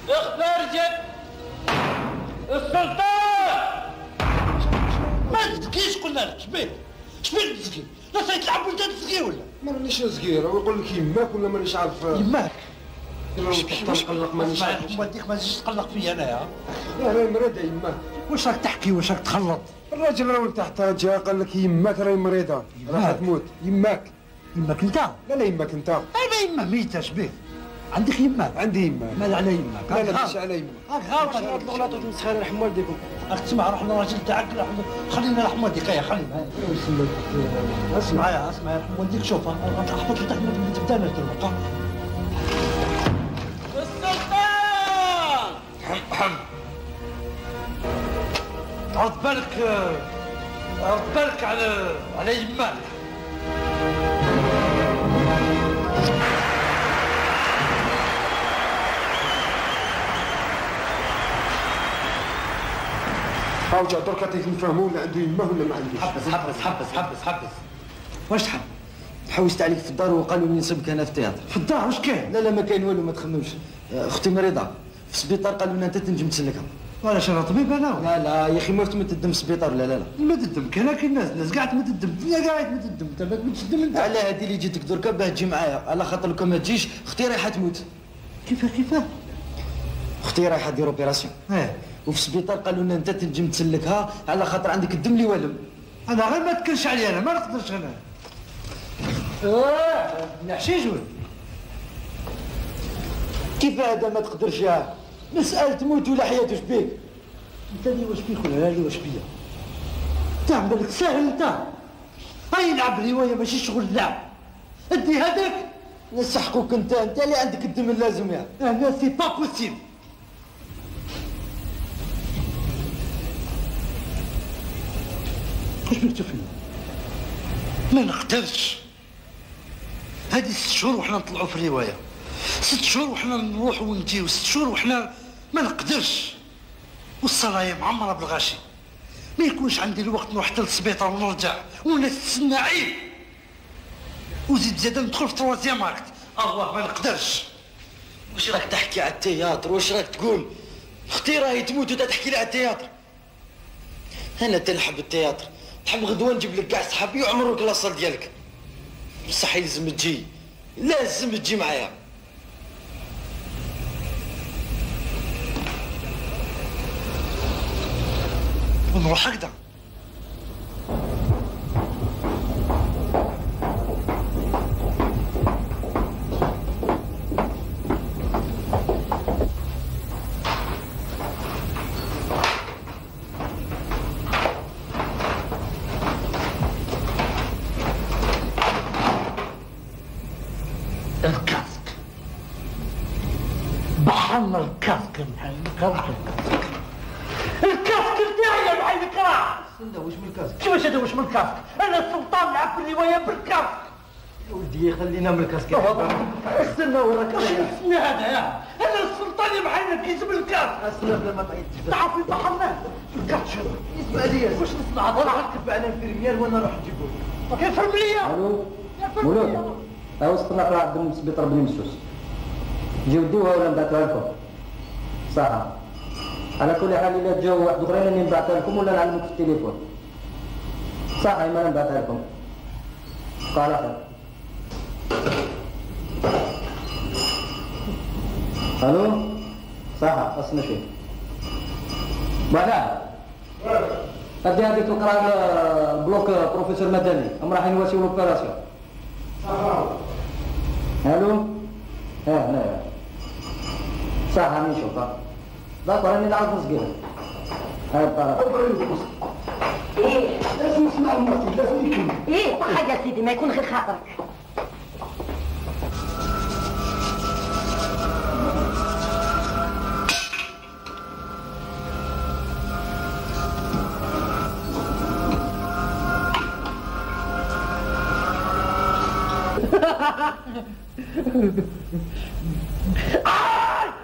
اختار جد السلطان. ما تزكيش قلنا لك، شبيك تزكي؟ لا تلعب وانت تزكي ولا؟ ما رانيش صغير، هو يقول لك يماك ولا مانيش عارف. يماك نقلق مانيش عارف. وديك ما تجيش تقلق فيا انايا. راهي مريضة يماك. واش راك تحكي؟ واش راك تخلط؟ الراجل راه تحت جا قال لك يماك راهي مريضة، راح تموت. يماك انت؟ لا يماك انت. انا يما ميتة، شبيك؟ عندك يماك؟ عندي يماك. ماذا على يماك؟ لا ماشي على يماك. هاك غلط. هاد الغلطات مسخره رحم والديكم. راك تسمع، روح للراجل تاعك، خلينا رحم والديك، خلينا. اسمع يا رحم والديك، شوف احبط لتحت ما تبدا نرتب. السلطان! عرض بالك على يماك. هاوجا دركا تيفهموا ولا عنده يما ولا ما عندوش. حبس. واش تحب؟ حوست عليك في الدار وقالوا لي نسبك انا في التياتر. في الدار واش كاين؟ لا ما كاين والو، ما تخممش. اختي مريضه في السبيطار، قالوا لنا انت تنجم تسلكها. وعلاش انا طبيب انا؟ لا يا اخي، ما تدم في السبيطار. لا ما تدم، كاين الناس قاعد ما تدم، الدنيا قاعد ما تدم، انت ما تدم انت. على هذه اللي جيتك دركا باه تجي معايا، على خاطر لو ما تجيش اختي رايحه تموت. كيفاه؟ اختي رايحه دير اوبيراسيون. وفي السبيطار قالوا لنا انت تنجم تسلكها على خاطر عندك الدم اللي والم. انا غير ما تكلش عليا، انا ما نقدرش انا. نحشيش ولا كيف هذا ما تقدرش؟ مسألة تموت ولا حياة، واش بيك؟ انت اللي واش بيك ولا اللي واش بيا؟ انت بالك ساهل انت. هاي نلعب رواية ماشي شغل لعب. ادي هذاك نسحقوك انت اللي عندك الدم اللازم يعني. انا سي با بوسيبل. واش بيك تفهم؟ ما نقدرش. هذه 6 شهور وحنا نطلعوا في الرواية، 6 شهور وحنا نروحوا ونجيو، 6 شهور وحنا ما نقدرش. والصلاة معمرة بالغاشي، ما ما يكونش عندي الوقت نروح حتى للسبيطار ونرجع والناس تسنى عيب. وزيد زاد ندخل في تروازيام اكت. الله ما نقدرش. واش راك تحكي على التياتر؟ واش راك تقول؟ اختي راهي تموت وانت تحكي لي على التياتر. انا تنحب التياتر، نحب غدوه نجيب لك كاع صحابي ويعمروا الكلاصه ديالك. بصح لازم تجي، لازم تجي معايا. ونروح هكذا. الكاسك بحرنا الكاسك يا محل الكاسك بتاعي يا محل الكراع. واش من الكاسك؟ كيفاش هذا واش من الكاسك؟ انا السلطان نلعب في الروايه بالكاسك. يا ولدي خلينا من الكاسك. استنى وراك. واش اسمي هذا يا؟ انا السلطان يا محل كيجيب الكاسك. استنى بلا ما تعيطش. تعرفي بحرنا الكاسك. اسمع لي واش نسمع هضره نكتب على انفيرميير وانا نروح نجيبو. انفيرميير. الو مولود ها وصلنا في عبد السبيطار بن مسوس. جيو ديوها ولا نبعثوها لكم؟ صح. على كل حال الا جاو واحد اخرين راني نبعثها لكم ولا نعلمك في التليفون. صح انا نبعثها لكم. قال خير. الو صح اصلا شيء. بعدا ادي هذيك القرا البلوك بروفيسور مدني هم راح يواسيو لوبيراسيون. الو ها هنايا صح راني نشوفها. داكور راني نعرف صغير. هاي الطرف. ايه لازم نسمع المرتي لازم يكمل. ايه صح يا سيدي ما يكون غير خاطرك.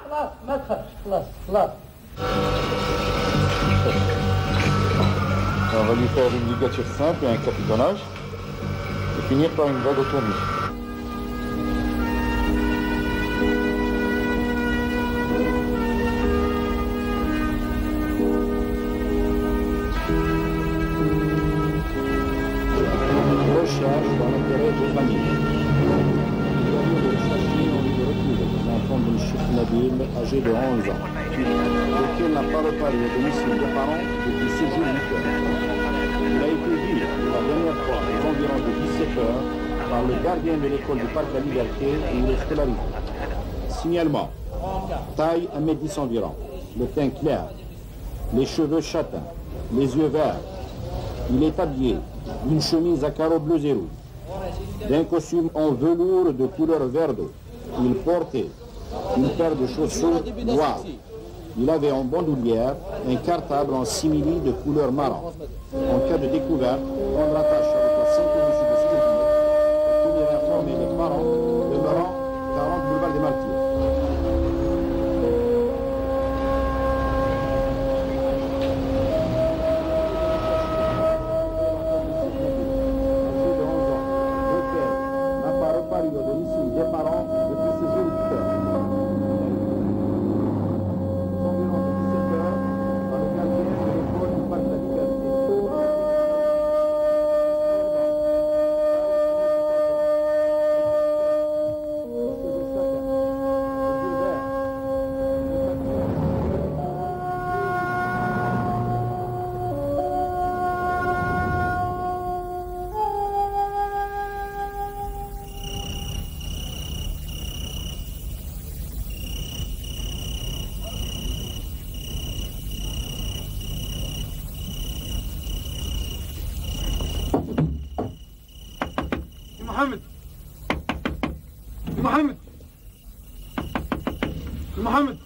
خلاص ما تخافش خلاص. On va lui faire une ligature simple et un capitonnage et finir par une vague autonomie. Recherche dans l'intérêt de famille. L'enfant de M. Nabil, âgé de 11 ans, lequel n'a pas reparé au domicile des parents depuis 6 jours 8 heures. Il a été vu la dernière fois aux environs de 17 heures par le gardien de l'école du Parc de la Liberté où il est scolarisé. Signalement. Taille 1m10 environ, le teint clair, les cheveux châtains, les yeux verts. Il est habillé d'une chemise à carreaux bleus et rouges, d'un costume en velours de couleur vert d'eau. Il portait une paire de chaussures noires. Il avait en bandoulière un cartable en simili de couleur marron. En cas de découverte, prendre attache avec la ceinture de sécurité et tenir informer les parents demeurant 40 boulevard des Martyrs. N'a pas reparu au domicile des parents depuis 6 jours 8 heures. محمد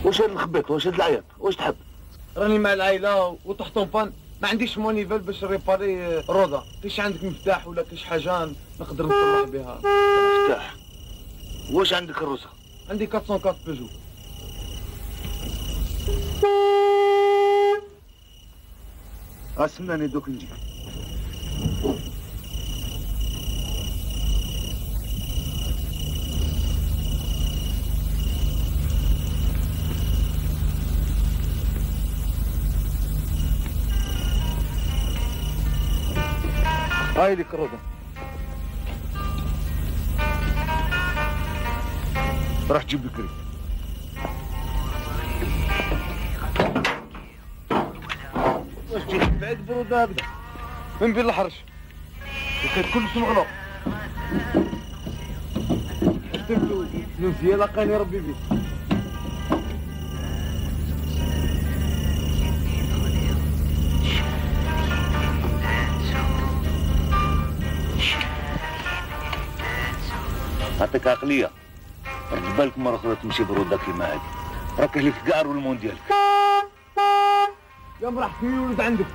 واش هاد الخبيط واش هاد العياط واش تحب؟ راني مع العائله وطحت بان ما عنديش مونيفال باش ريباري روضه. كاينش عندك مفتاح ولا كاينش حاجه نقدر نصلح بها؟ مفتاح؟ واش عندك الرصه؟ عندي 404 بيجو. استناني دوك نجي. هاي لك الرضا. راح تجيب بكري. واش جيت بعيد برودة هكذا؟ من بين الحرش. وكان كلش مغلق. شفتو نمشي لقاني ربي بيك. عطيك عقلية. رد بالك مرة أخرى تمشي برودة كيما هادي. راك لك كاع والمون ديالك. يوم راح تولد عندك.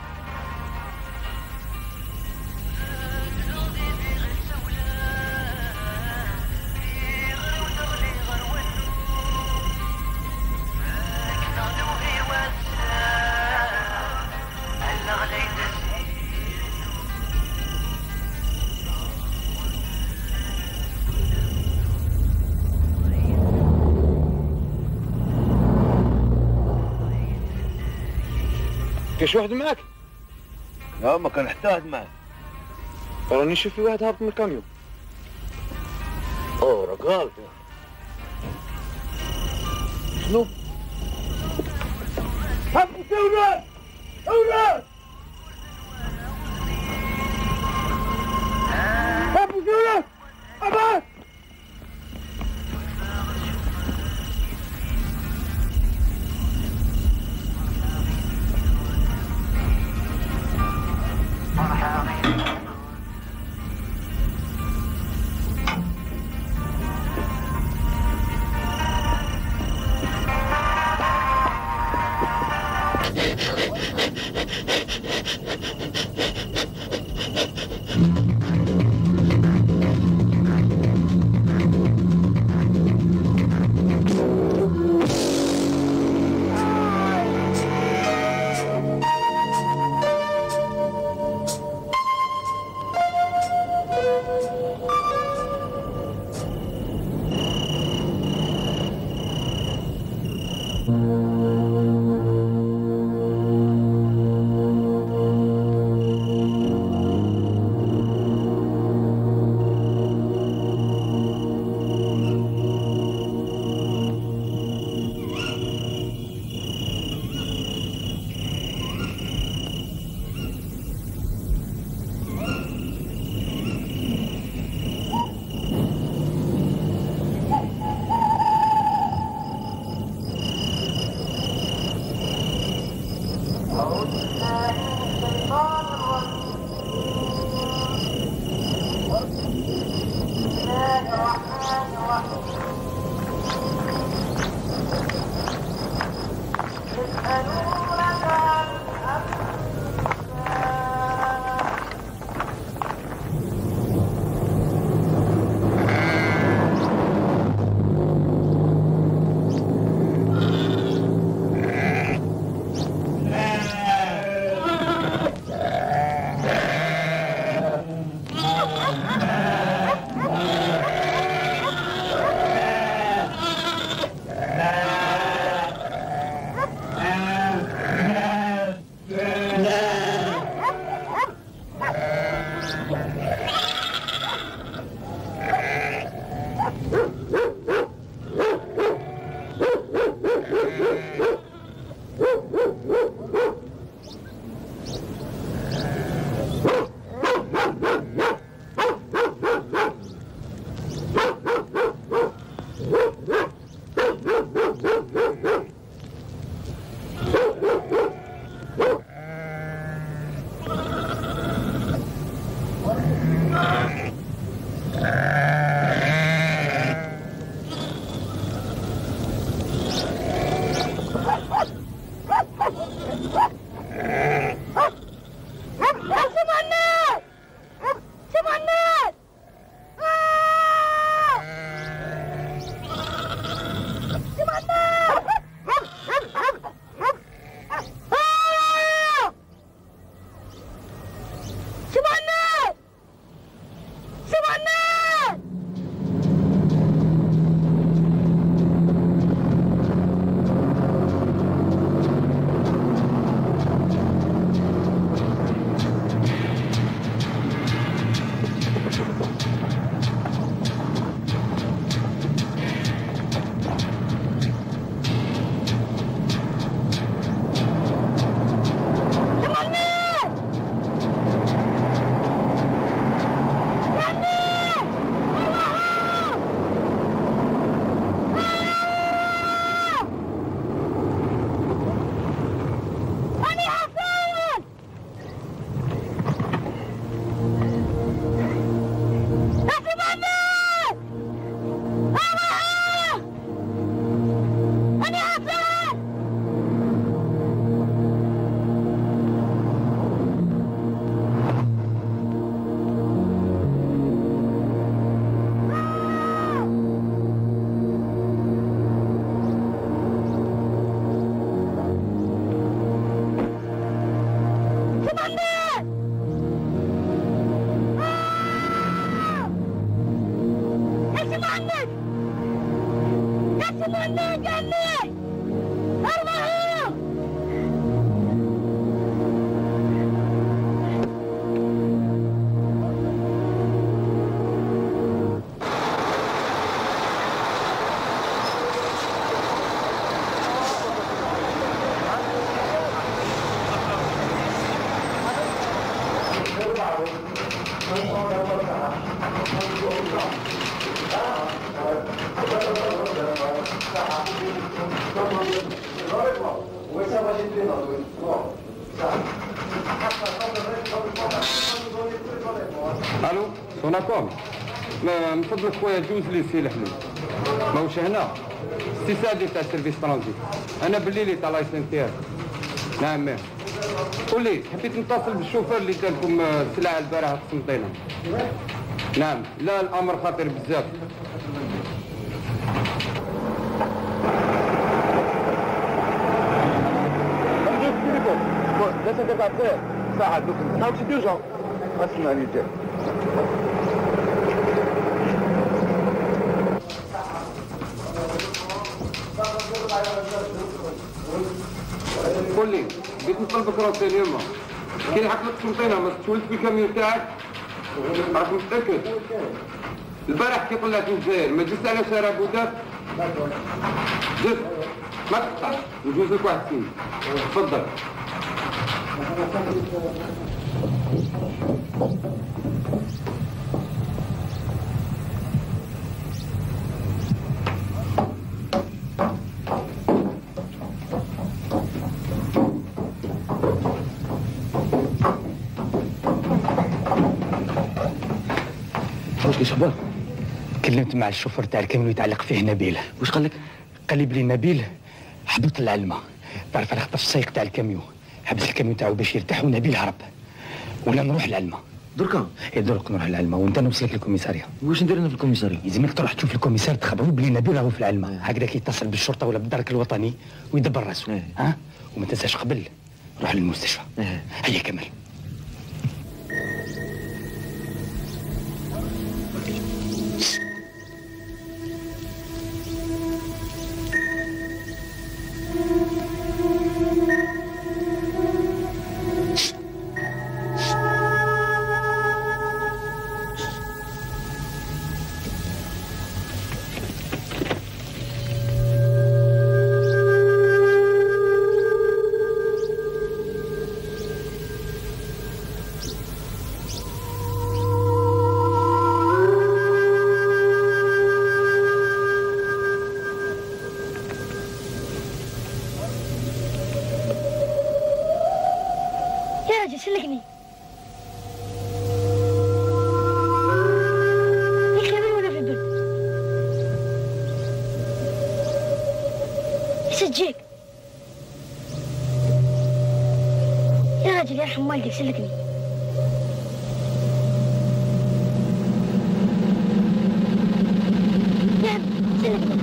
كاش واحد معاك؟ لا ما كان حتى واحد معاه. راني نشوف في واحد هابط من الكاميون. اوه راك غلط. شنو؟ هبطوا اولاد! اولاد! هبطوا اولاد! ابعد! عمي عمي ارمحوا. الو سوناكوم، من فضلك خويا جوز لي سي الحلول ماهوش هنا. سي سعدي تاع سيرفيس ترانزيت، انا بالليلي تاع لايسنس تاعي. نعم مير. قول لي حبيت نتصل بالشوفير اللي دالكم السلعه البارحه في قسنطينه. نعم لا الامر خطير بزاف. لا تدفع فيه ساعة دوك نتحاول شي ديجا اسمعني جاي. قول لي بغيت نطلبك راسينيومون، كاين حفلة قسنطينة ما تولد في الكاميون تاعك؟ راك متأكد؟ البارح كي طلعت من الجزائر ما جيت على شارع بوداب؟ جد ما تقطع نجوز لك واحد سنين. تفضل. واش اخبار؟ كلمت مع الشوفر تاع الكاميون يتعلق فيه نبيل. واش قال لك؟ قال لي بلي نبيل هبط للعلمة، تعرف على خاطر السايق تاع الكاميون حبس الكاميون تاعو باش يرتاح ونبيل هرب. ولا نروح للعلمة دركا؟ اي درك نروح للعلمة وانت نوصلك للكوميسارية. واش ندير انا في الكوميسارية؟ يلزمك تروح تشوف الكوميسار تخبروا بلي نبيل راهو في العلمة، هكذاك يتصل بالشرطة ولا بالدرك الوطني ويدبر راسه. ها؟ وما تنساش قبل روح للمستشفى. هيا كمل. سلكني ليك لبن ولا في البرد يسجيك يا راجل يرحم والديك سلكني. يا عم سلكني.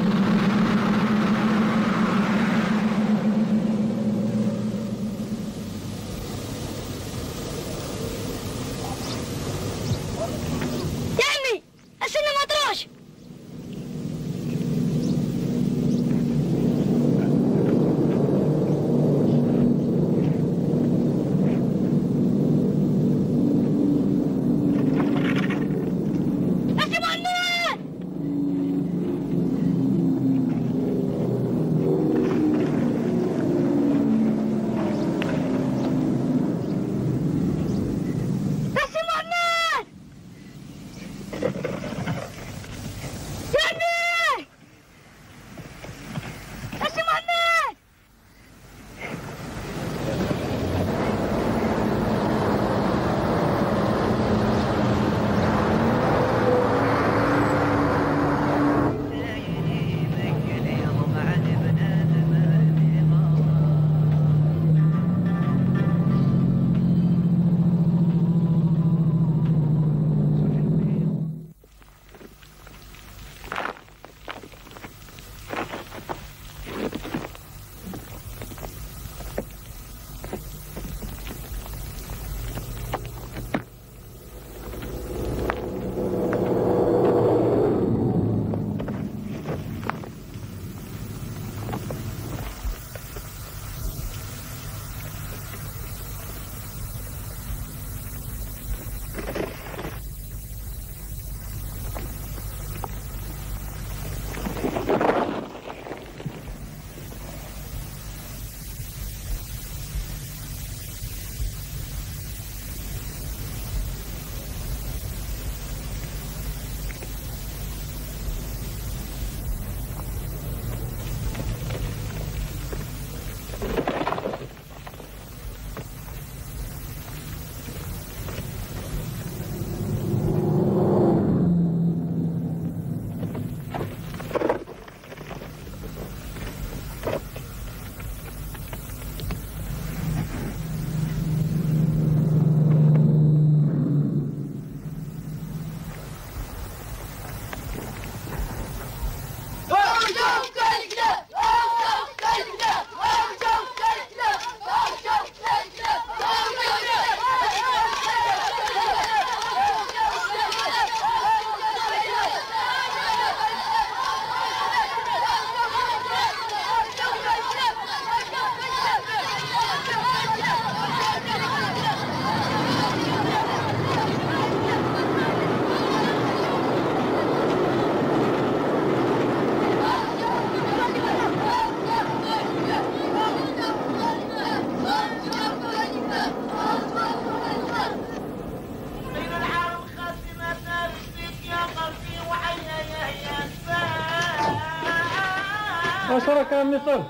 اخبارك يا عمي صالح؟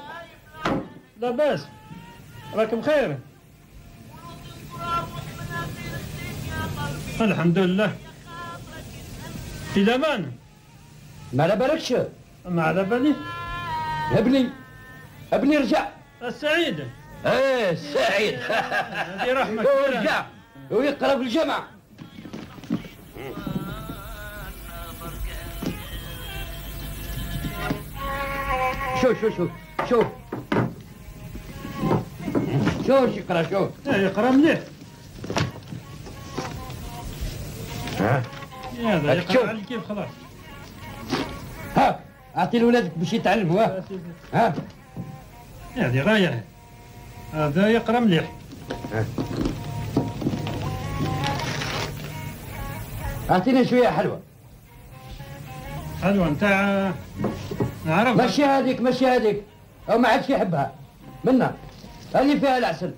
لاباس؟ راك بخير؟ الحمد لله. في الامان؟ ما على بالكش؟ ما على بالي. ابني رجع. السعيد. ايه السعيد. هذه رحمة. هو رجع ويقرا في الجامعة. شوف يقرا شوف. يقرا مليح. هذا يقرا على كيف خلاص. ها اعطي لولادك باش يتعلموا. ها هذه غاية. هذا يقرا مليح. اعطينا شوية حلوة. حلوة نتاع نعرفها. مشي هذيك او ما عادش يحبها منا اللي فيها العسل.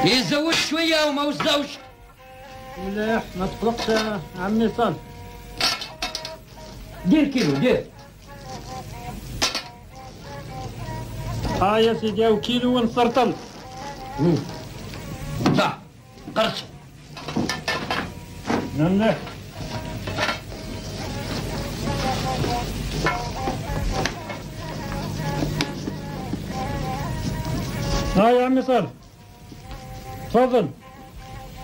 يزود شوية وما وزعوش. مليح ما تقلقش يا عمي صالح. دير كيلو دير. يا سيدي او كيلو ونسرطل. صح قرص. مليح. يا عمي صالح تفضل.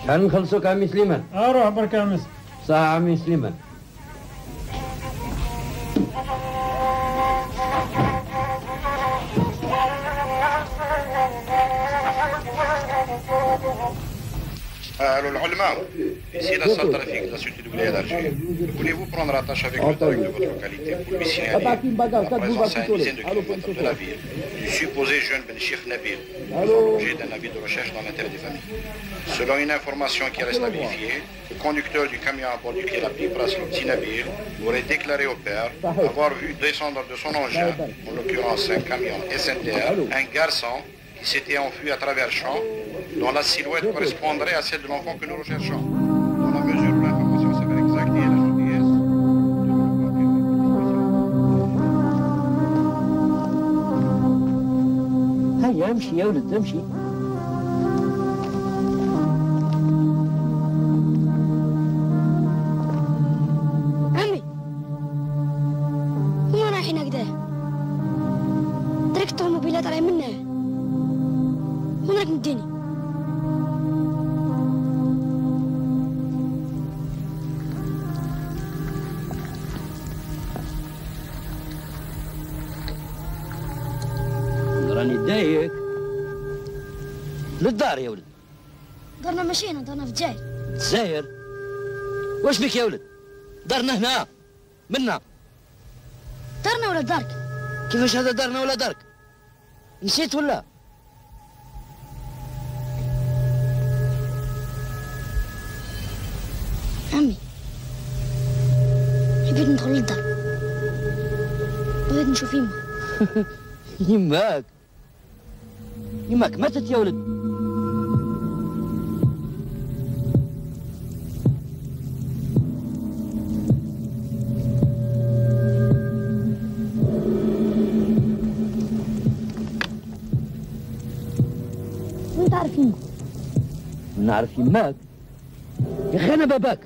شحال نخلصوك عمي سليمان؟ روح برك يا عمي. صح عمي سليمان. العلماء ici la salle trafic de la société de Wilaya d'Alger. Voulez-vous prendre attache avec le tarif de votre qualité pour lui signaler la présence à une dizaine de kilomètres de la ville du supposé jeune Ben Chif Nabil, faisant l'objet d'un avis de recherche dans l'intérêt des familles. Selon une information qui reste à vérifier, le conducteur du camion à bord duquel a pris place le petit Nabil aurait déclaré au père avoir vu descendre de son engin, en l'occurrence un camion SNTR, un garçon qui s'était enfui à travers le champ, dont la silhouette correspondrait à celle de l'enfant que nous recherchons. Dans la mesure où l'information s'avère exacte et la gentillesse هيا امشي يا ولد امشي. عمي وين رايحين هكذا؟ تركت الموبيلات راهي منه. وين راك مديني؟ راني دايك للدار يا ولد. دارنا مشينا دارنا في الجزائر. الجزائر؟ واش بك يا ولد؟ دارنا هنا منا. دارنا ولا دارك؟ كيفاش هذا دارنا ولا دارك؟ نسيت ولا؟ عمي حبيت ندخل للدار. بغيت نشوف يما. يماك ماتت يا ولد. وين تعرف يما؟ نعرف يماك يا اخي. انا باباك.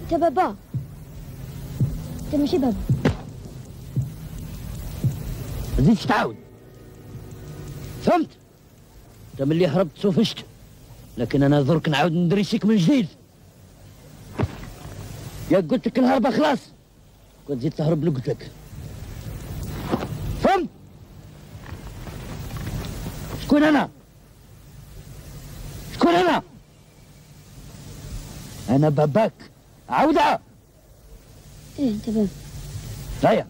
انت بابا. انت ماشي بابا. ما تزيدش تعاود فهمت؟ انت ملي هربت سوفشت، لكن انا درك نعاود ندريسيك من جديد. يا قلت لك الهربه خلاص، كنت زيد تهرب قلت لك. فهمت؟ شكون انا؟ شكون انا؟ انا باباك. عودها. ايه انت بابا. هيا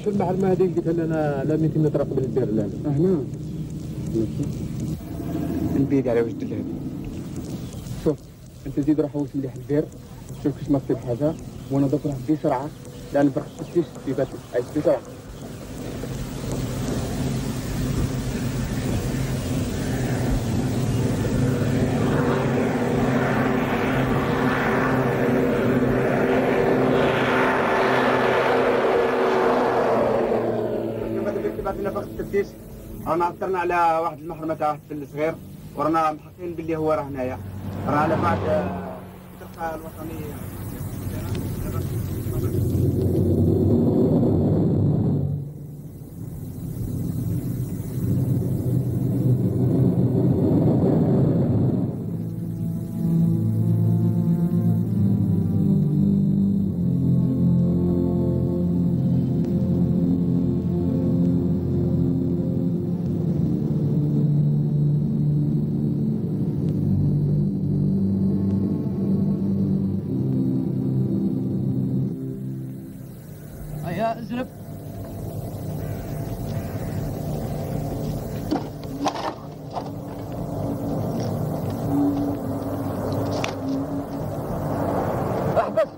في المحرمه هذيك قلت لنا لا 200 متر قبل الدير لا هنا البيد على وجه اللهب. شوف انت زيد روح وصل مليح الدير شوف كيش ما كتب حاجه وانا دوك راح بسرعه لان فرق التفتيش في باتو عايز بسرعه. بعثنا فرق التفتيش رانا عثرنا على واحد المحرمه تاع واحد الفل صغير ورانا محققين باللي هو راه هنايا راه على بعد الفرقه الوطنيه. هيا ازرب. احبس.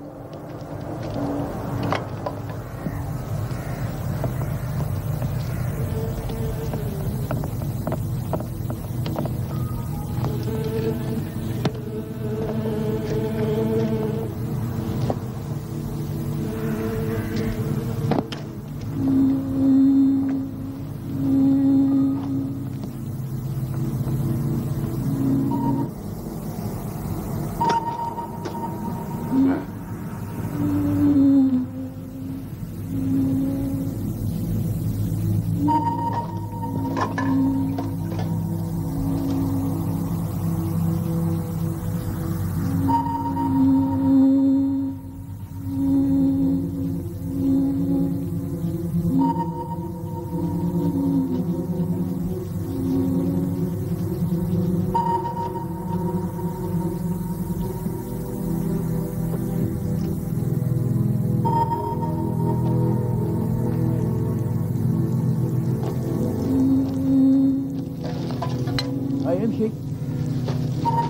امشي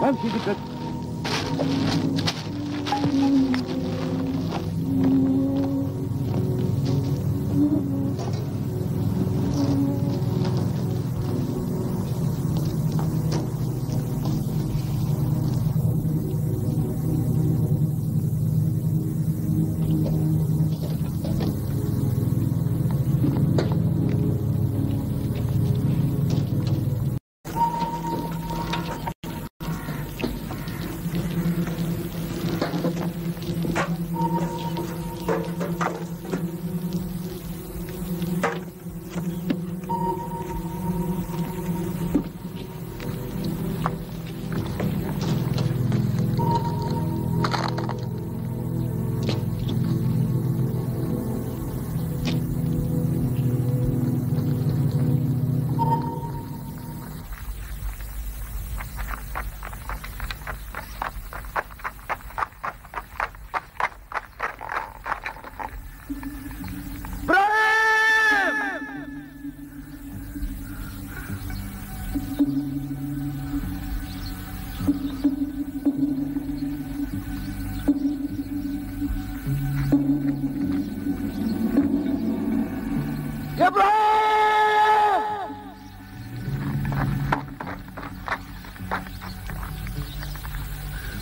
امشي قلت لك. يا ابراهيم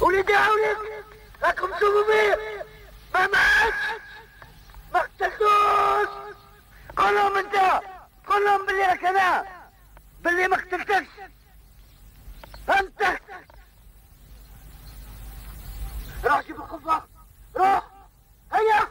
وليدي عاونك راكم سبوبين ما ماتش ما قتلتوش. قول لهم انت قول لهم باللي راك انا باللي ما قتلتكش فهمتك. روح جيب القفه روح هيا.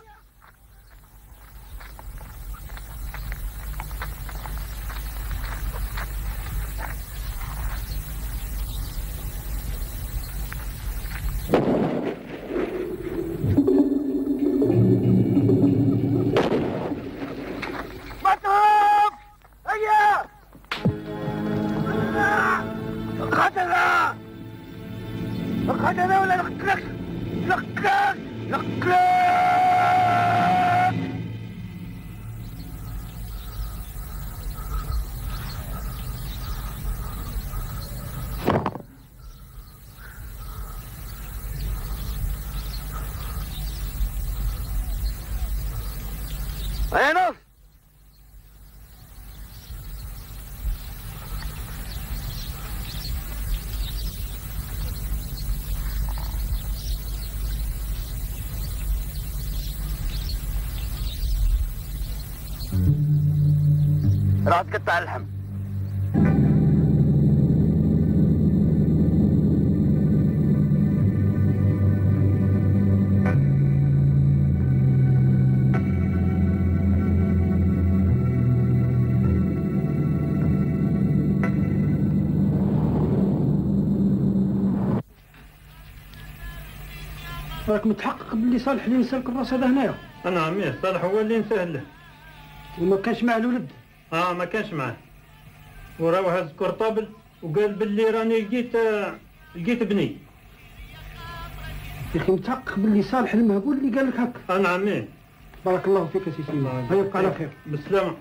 مطلوب هيا قتلها قتلها ولا نقتلك نقتلك نقتلك. راح تقطع اللحم. راك متحقق باللي صالح اللي نسالك الراس هذا هنايا؟ انا عمي صالح هو اللي نسهل له. وما كانش معاه الولد؟ ما كانش معاه، وراه هز كورطابل وقال باللي راني لقيت بني. يا اخي متحقق باللي صالح المهبول اللي قال لك هكا؟ انا عمي. بارك الله فيك يا سي سليمان، هيا يبقى على خير. بالسلامه.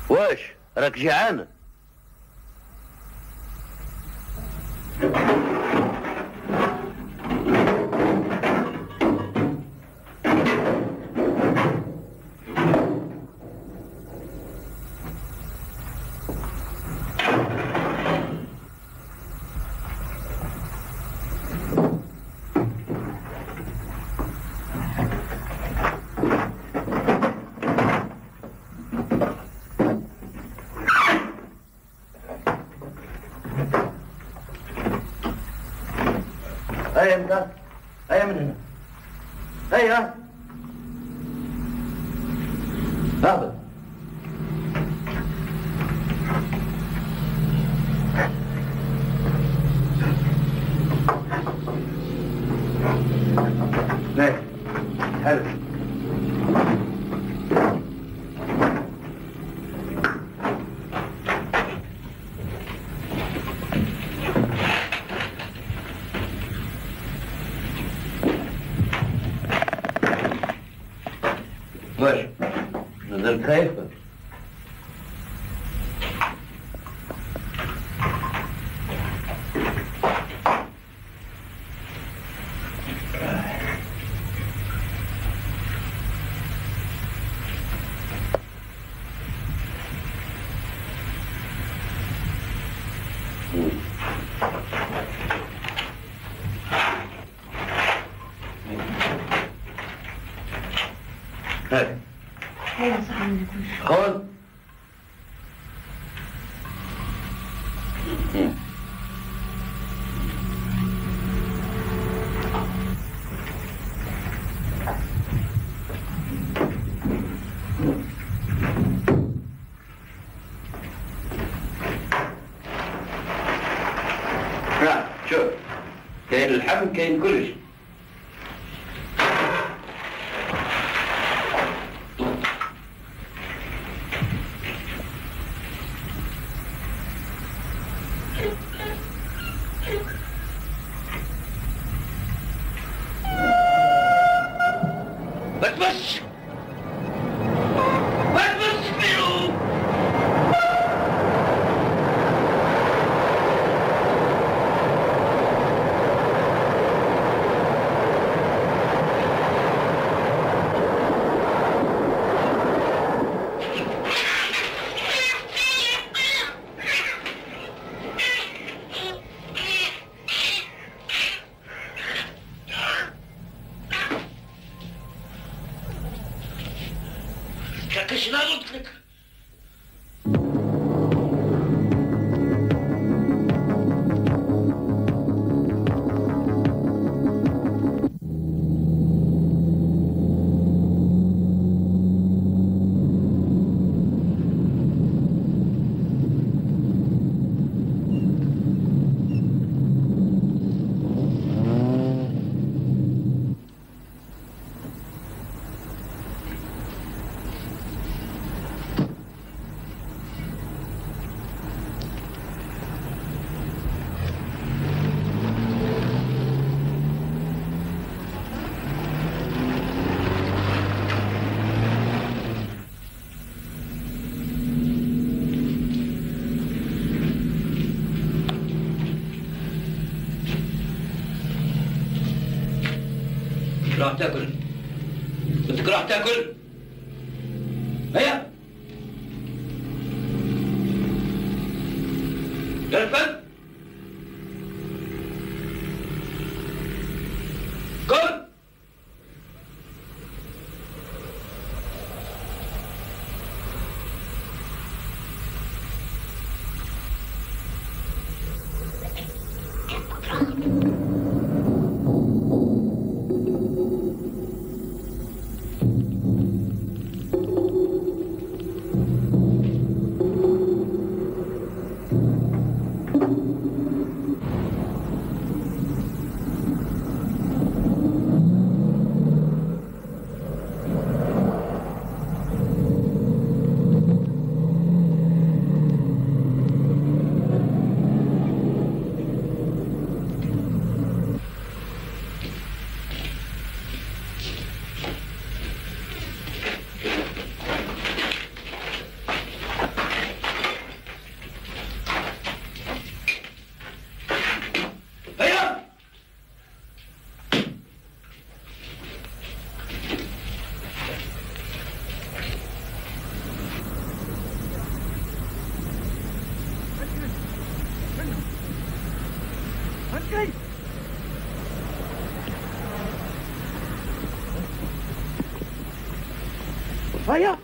واش راك جيعان؟ هيا انت، هيا من هنا، هيا هابط. هيا حلو. واش نزلت خايف؟ خذ. شوف كاين اللحم كاين كلش. بس كاش لا قلت لك. راح تاكل؟ بدك راح تاكل؟ هيا يرفد كل هيا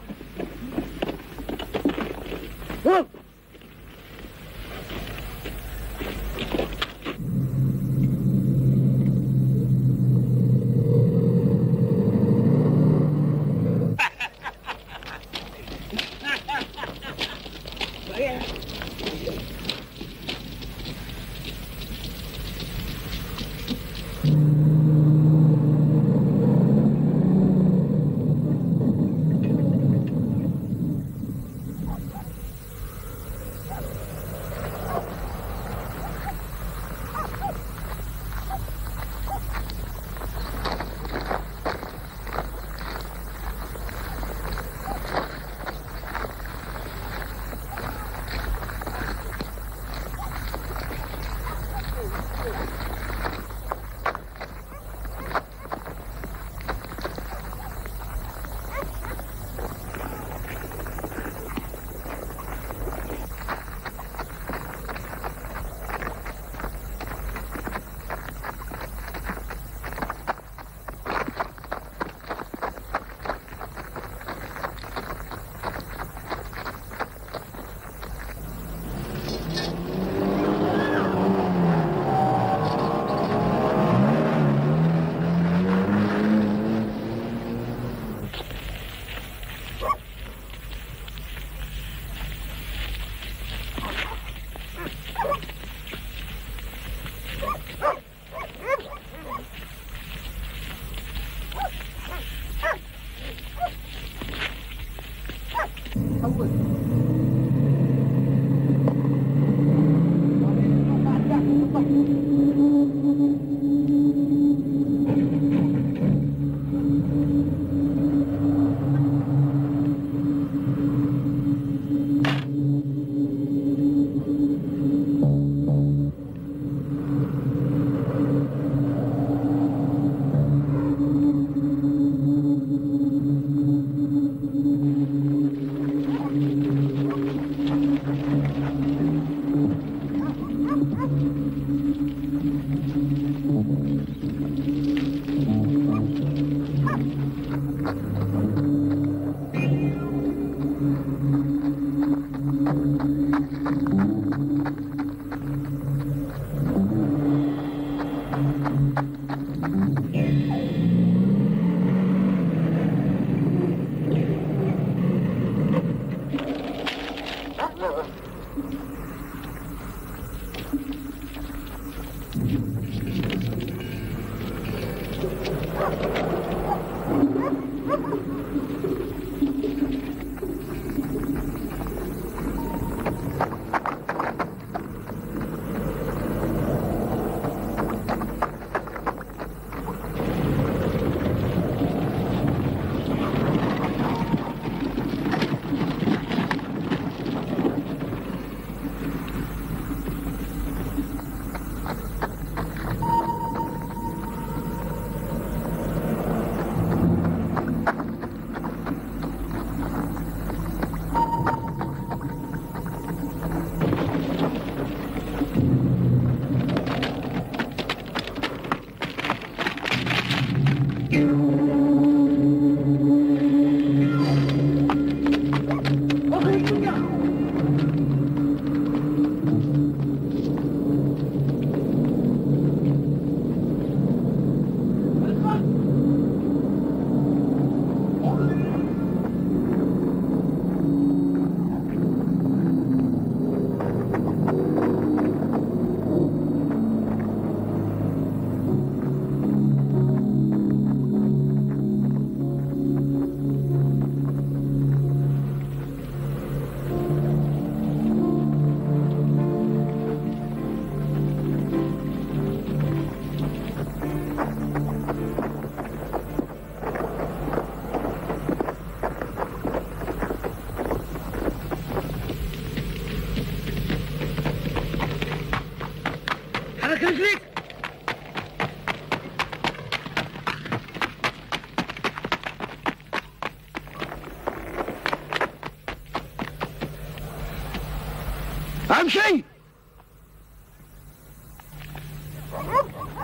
امشي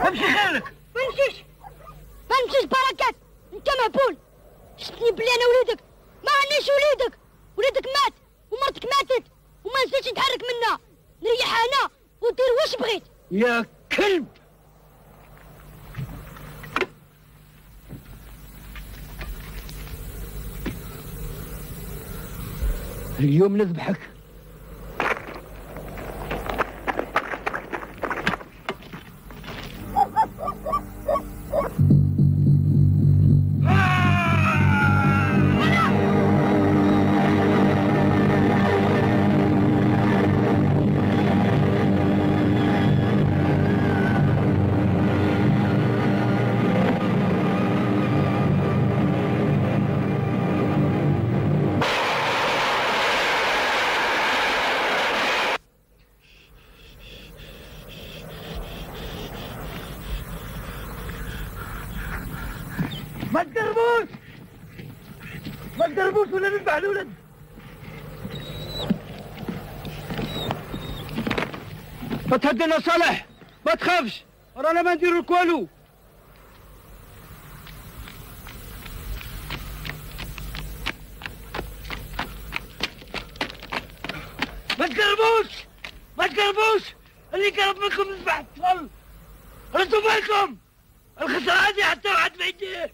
امشي خيرك. ما نمشيش بركات، انت مهبول. شفتني بلي انا وليدك، ما عنديش وليدك مات ومرتك ماتت وما نسيتش نتحرك منها، نريح انا ودير واش بغيت. يا كلب. اليوم نذبحك. ما تقربوش ولا نذبح الولد. ما تهدنا صالح، ما تخافش، رانا ما نديرو لك والو. ما تقربوش، اللي قرب منكم نذبح الطفل. ردوا بالكم، الخسارة هذه حتى واحد ما يديه.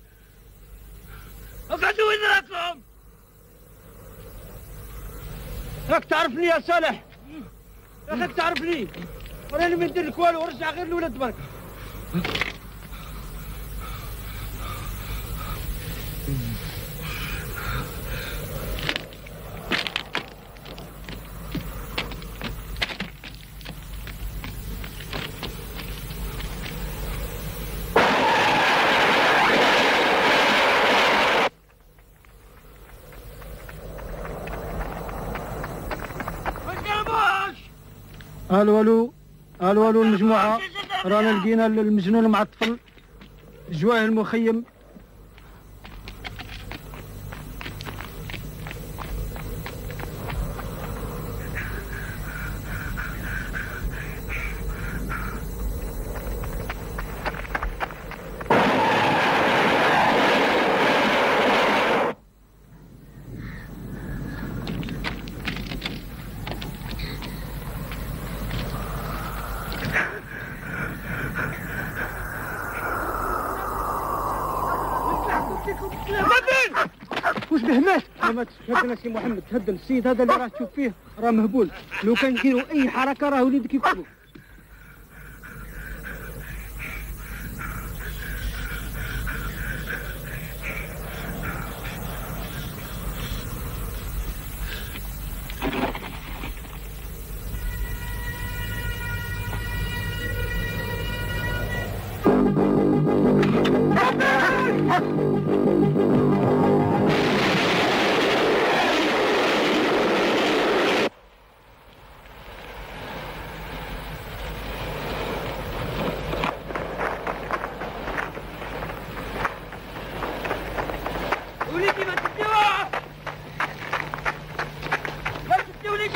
اقعدوا وين راكم؟ راك تعرفني يا صالح، راك تعرفني، وراني ما ندير لك والو، ورجع غير الولد برك. الو المجموعة، رانا لقينا المجنون مع الطفل جواه المخيم. وش به مات؟ ما تهدنا سي محمد، تهدن السيد هذا اللي راه تشوف فيه راه مهبول، لو كان نديروا اي حركه راه وليدك يكتبوا.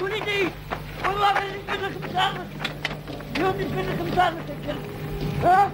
وليدي والله غير نجبد لك مصارك، اليوم نجبد لك مصارك يا كلب. ها